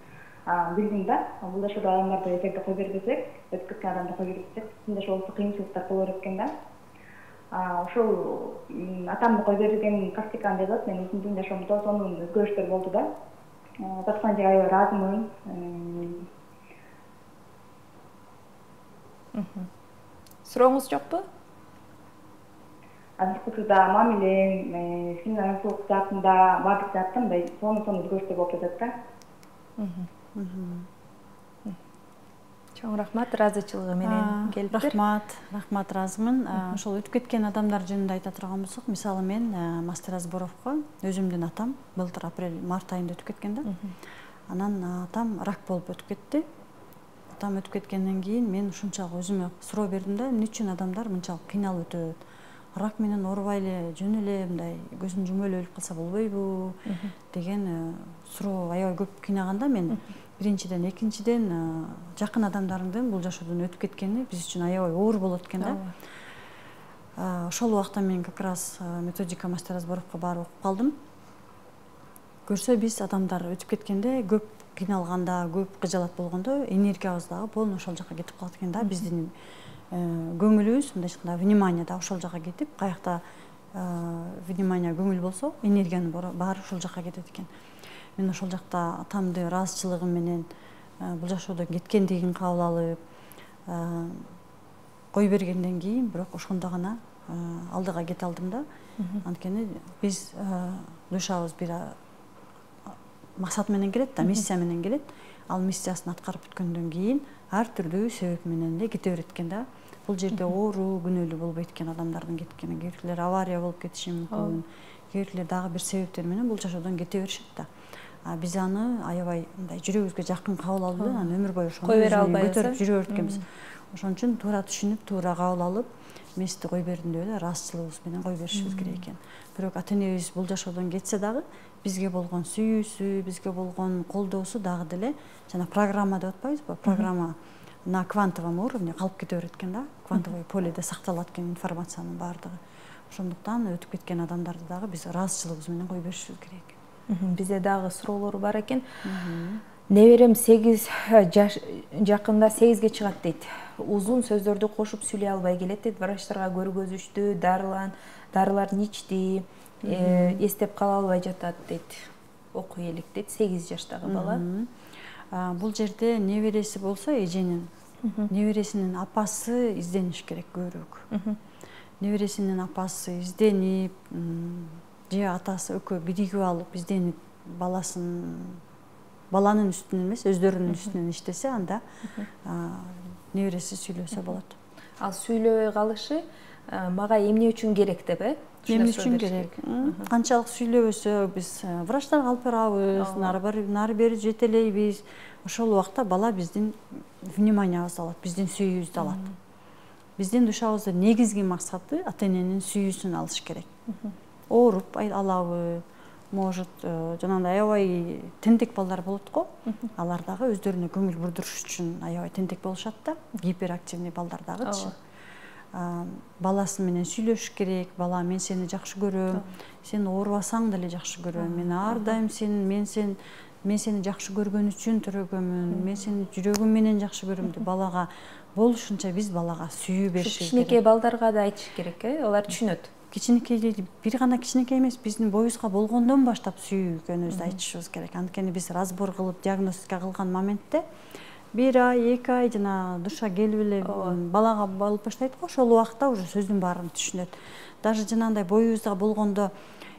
билдим да. Бул жашоодо адамдарды эгерде кой бербесек, өтүп кеткен адамды кой бербесек, биздин жашообузда кыйынчылыктар боло берет экен да. Ошол атамды кой берген практиканы жазат, мен өзүмдүн жашоомдо сонун өзгөрүштөр болду да. Узаткан эжеге аябай ыраазымын. Сурооңуз жокпу? Азыркыда мамилем, финансылык жаатында баардык жаатта мындай сонун-сонун өзгөрүштөр болуп жатат да. Чоң рахмат, ыраазычылыгы менен келиптир. Рахмат, рахмат, ыраазымын. Ошол өтүп кеткен адамдар жөнүндө айта турган болсок, мисалы мен Мастер Азборовго өзүмдүн атам былтыр апрель март айында өтүп кеткен да. Анан атам рак болуп өтүп кетти. Атам өтүп кеткенден кийин мен ушунчалык өзүмө суроо бердим да, эмне үчүн адамдар мынчалык кыйналып өтөт? Рак менен оорубай эле, жөн эле мындай көзүн жумуп эле өлүп калса болбойбу деген суроо аябай көп кыйнаганда мен. Биринчиден, экинчиден жакын адамдарыңдын бул жашоодон өтүп кеткени биз үчүн аябай оор болот экен да. Ошол убакта мен как раз методика Мастер Азборовго барып окуп калдым. Көрсө биз адамдар өтүп кеткенде көп кыйналганда, көп кыжалат болгондо энергиябыз дагы полный ошол жака кетип калат экен да. Биздин көңүлүбүз, мындайча айтканда, внимание да ошол жака кетип, каякта внимание, көңүл болсо, энергиянын баары ошол жака кетет экен. Мен ошол жакта атамды ыраазычылыгым менен бул жашоодон кеткендигин кабыл алып, кой бергенден кийин, бирок ошондо гана алдыга кете алдым да. Анткени биз душабыз бир максат менен келет да, миссия менен келет. Ал миссиясын аткарып бүткөндөн кийин ар түрдүү себеп менен эле кете берет экен да. Бул жерде оору, күнөөлүү болбойт экен адамдардын кеткени. Кээ бирлер авария болуп кетиши мүмкүн. Кээ бирлер дагы бир себептер менен бул жашоодон кете беришет да. Биз аны аябай мындай жүрөгүбүзгө жакын кабыл алып, анан өмүр бою ошону көтөрүп жүрө берет экенбиз. Ошон үчүн туура түшүнүп, туура кабыл алып, мести кой бердим деп эле ыраазычылыгыбыз менен кой беришибиз керек экен. Бирок ата энебиз бул жашоодон кетсе дагы бизге болгон сүйүүсү, бизге болгон колдоосу дагы деле жана программа деп атпайбызбы? Программа на квантовом уровне калып кете берет экен да. Квантовый поледе сакталат экен информациянын баардыгы. Ошондуктан өтүп кеткен адамдарды дагы биз ыраазычылыгыбыз менен кой беришибиз керек. Бизде дагы суроолор бар экен. Неберем сегиз жаш жакында сегизге чыгат дейт. Узун сөздөрдү кошуп сүйлөй албай келет дейт. Врачтарга көргөзүштү, дарылан, дарыларын ичти, эстеп кала албай жатат дейт. Окуй элек дейт, сегиз жаштагы бала. Бул жерде небереси болсо эженин, небересинин апасы издениш керек көбүрөөк. Небересинин апасы изденип, же атасы экөө биригип алып изденип баласын баланын үстүнөн эмес, өздөрүнүн үстүнөн иштесе, анда небереси сүйлөсө болот. Ал сүйлөбөй калышы мага эмне үчүн керек деп, э? Эмне үчүн керек? Канчалык сүйлөбөсө биз врачтарга алып барабыз, нары бери жетелейбиз. Ошол убакта бала биздин вниманиябызды алат, биздин сүйүүбүздү алат. Биздин душабыздын негизги максаты ата эненин сүйүүсүн алыш керек. Ооруп алабы, может, жанагындай аябай тентек балдар болот го. Алар дагы өздөрүнө көңүл бурдуруш үчүн аябай тентек болушат да. Гиперактивный балдар дагычы. Баласы менен сүйлөшүш керек. Бала, мен сени жакшы көрөм. Сен оорубасаң деле жакшы көрөм. Мен ар дайым сен, мен сен, мен сени жакшы көргөн үчүн төрөгөмүн. Мен сени жүрөгүм менен жакшы көрөм деп балага болушунча биз балага сүйүү беришибиз керек. Кичинекей балдарга да айтыш керек, э? Алар түшүнөт. Кичинекей, бир гана кичинекей эмес, биздин боюбузга болгондон баштап сүйүүгөнүбүздү айтышыбыз керек. Анткени биз разбор кылып, диагностика кылган моментте бир ай эки ай жана душа келип эле балага болуп баштайт го, ошол убакта уже сөздүн баарын түшүнөт. Даже жанагындай боюбузда болгондо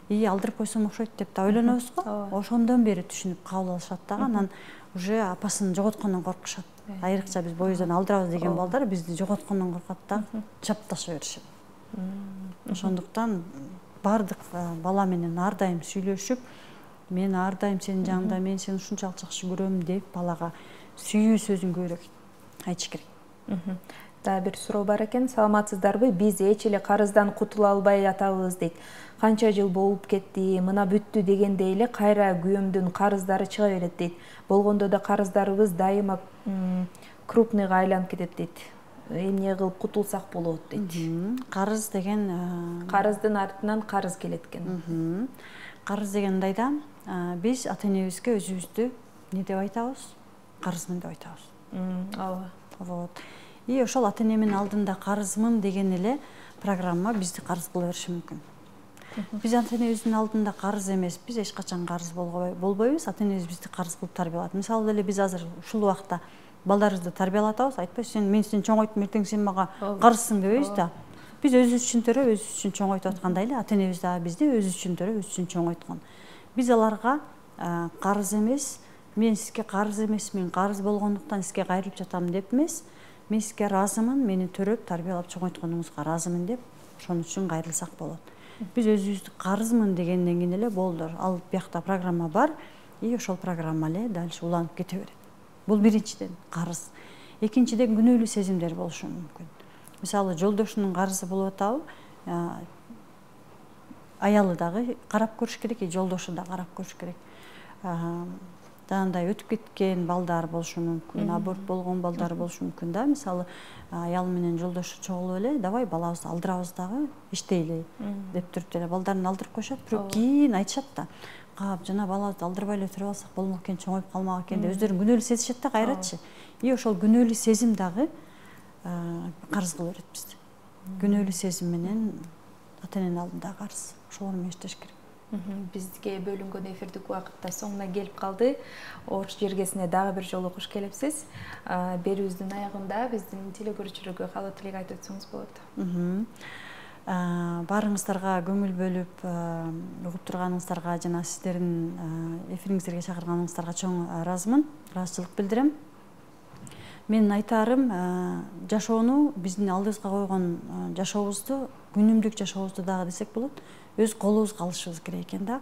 ии алдырып койсом окшойт деп да ойлонобуз го, ошондон бери түшүнүп кабыл алышат дагы, анан уже апасын жоготкондон коркушат. Айрыкча биз боюбуздан алдырабыз деген балдар бизди жоготкондон коркот да, чапташа беришет. Ошондуктан бардык бала менен ар дайым сүйлөшүп, мен ар дайым сенин жаныңда, мен сени ушунчалык жакшы көрөм деп балага сүйүү сөзүн көбүрөөк айтыш керек. Дагы бир суроо бар экен. Саламатсыздарбы? Биз эч эле карыздан кутула албай атабыз дейт. Канча жыл болуп кетти, мына бүттү дегендей эле кайра күйөөмдүн карыздары чыга берет дейт. Болгондо да карыздарыбыз дайыма крупныйга айланып кетет дейт. Эмне кылып кутулсак болот дейт. Карыз деген карыздын артынан карыз келет экен. Карыз деген мындайда, биз ата энебизге өзүбүздү эмне деп айтабыз? Карызмын деп айтабыз. Ооба. Вот. И ошол ата энемин алдында карызмын деген эле программа бизди карыз кыла бериши мүмкүн. Биз ата энебиздин алдында карыз эмеспиз, эч качан карыз болбойбуз. Ата энебиз бизди карыз кылып тарбиялат. Мисалы деле биз азыр ушул убакта балдарыбызды тарбиялатабыз, айтпайбыз, сен мен сени чоңойттум, эртең сен мага карызсың дебейбиз да. Биз өзүбүз үчүн төрөп, өзүбүз үчүн чоңойтуп аткандай эле ата энебиз дагы бизди өзүбүз үчүн төрөп, өзүбүз үчүн чоңойткон. Биз аларга карыз эмес, мен сизге карыз эмесмин, карыз болгондуктан сизге кайрылып жатам деп эмес, мен сизге ыраазымын, мени төрөп, тарбиялап чоңойтконуңузга ыраазымын деп, ошон үчүн кайрылсак болот. Биз өзүбүздү карызмын дегенден кийин эле болду. Ал биякта программа бар, и ошол программа эле дальше уланып кете берет. Бул биринчиден карыз. Экинчиден күнөөлүү сезимдер болушу мүмкүн. Мисалы, жолдошунун карызы болуп атабы, аялы дагы карап көрүш керек, жолдошу да карап көрүш керек. Жанагындай өтүп кеткен балдар болушу мүмкүн, аборт болгон балдар болушу мүмкүн да. Мисалы, аялы менен жолдошу чогулуп эле, давай балабызды алдырабыз дагы, иштейли деп туруп эле балдарын алдырып коюшат, бирок кийин айтышат да. Кап, жана балабызды алдырбай эле туруп алсак болмок экен, чоңоюп калмак экен деп өздөрүн күнөөлүү сезишет да кайрачы. И ошол күнөөлүү сезим дагы карыз кыла берет бизди. Күнөөлүү сезим менен ата эненин алдындагы карыз. Ошол менен иштеш керек. Бизге бөлүнгөн эфирдик убакыт да соңуна келип калды. Ош жергесине дагы бир жолу куш келипсиз. Берүүбүздүн аягында биздин телекөрүүчүлөргө каалоо тилек айтып өтсөңүз болот. Баарыңыздарга көңүл бөлүп, угуп турганыңыздарга жана сиздердин эфириңиздерге чакырганыңыздарга чоң ыраазымын, ыраазычылык билдирем. Менин айтаарым, жашоону, биздин алдыбызга койгон жашообузду, күнүмдүк жашообузду дагы десек болот, өз колубузга алышыбыз керек экен да.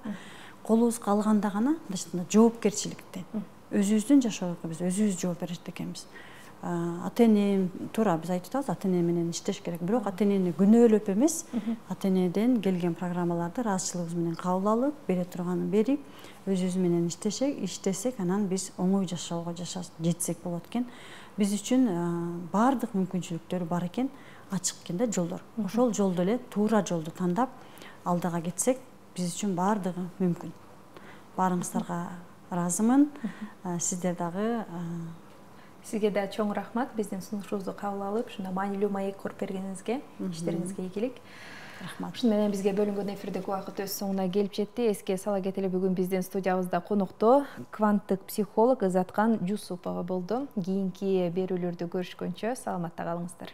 Колубузга алганда гана жоопкерчиликтен, өзүбүздүн жашообузга биз өзүбүз жооп берет экенбиз. Ата эне туура биз айтып атабыз, ата эне менен иштеш керек. Бирок ата энени күнөөлөп эмес, ата энеден келген программаларды ыраазычылыгыбыз менен кабыл алып, бере турганын берип, өзүбүз менен иштесек, иштесек, анан биз оңой жашоого жетсек болот экен. Биз үчүн баардык мүмкүнчүлүктөр бар экен, ачык экен да жолдор. Ошол жолду эле туура жолду тандап алдыга кетсек, биз үчүн баардыгы мүмкүн. Баарыңыздарга ыраазымын. Сиздер дагы Сизге да чоң рахмат, биздин сунушубузду кабыл алып, ушундай маанилүү маек коруп бергениңизге, иштериңизге ийгилик. Рахмат. Ушун менен бизге бөлүнгөн эфирдик убакыт өз соңуна келип жетти. Эске сала кетели, бүгүн биздин студиябызда конокто кванттык психолог Ызаткан Жусупова болду. Кийинки берүүлөрдө көрүшкөнчө саламатта калыңыздар.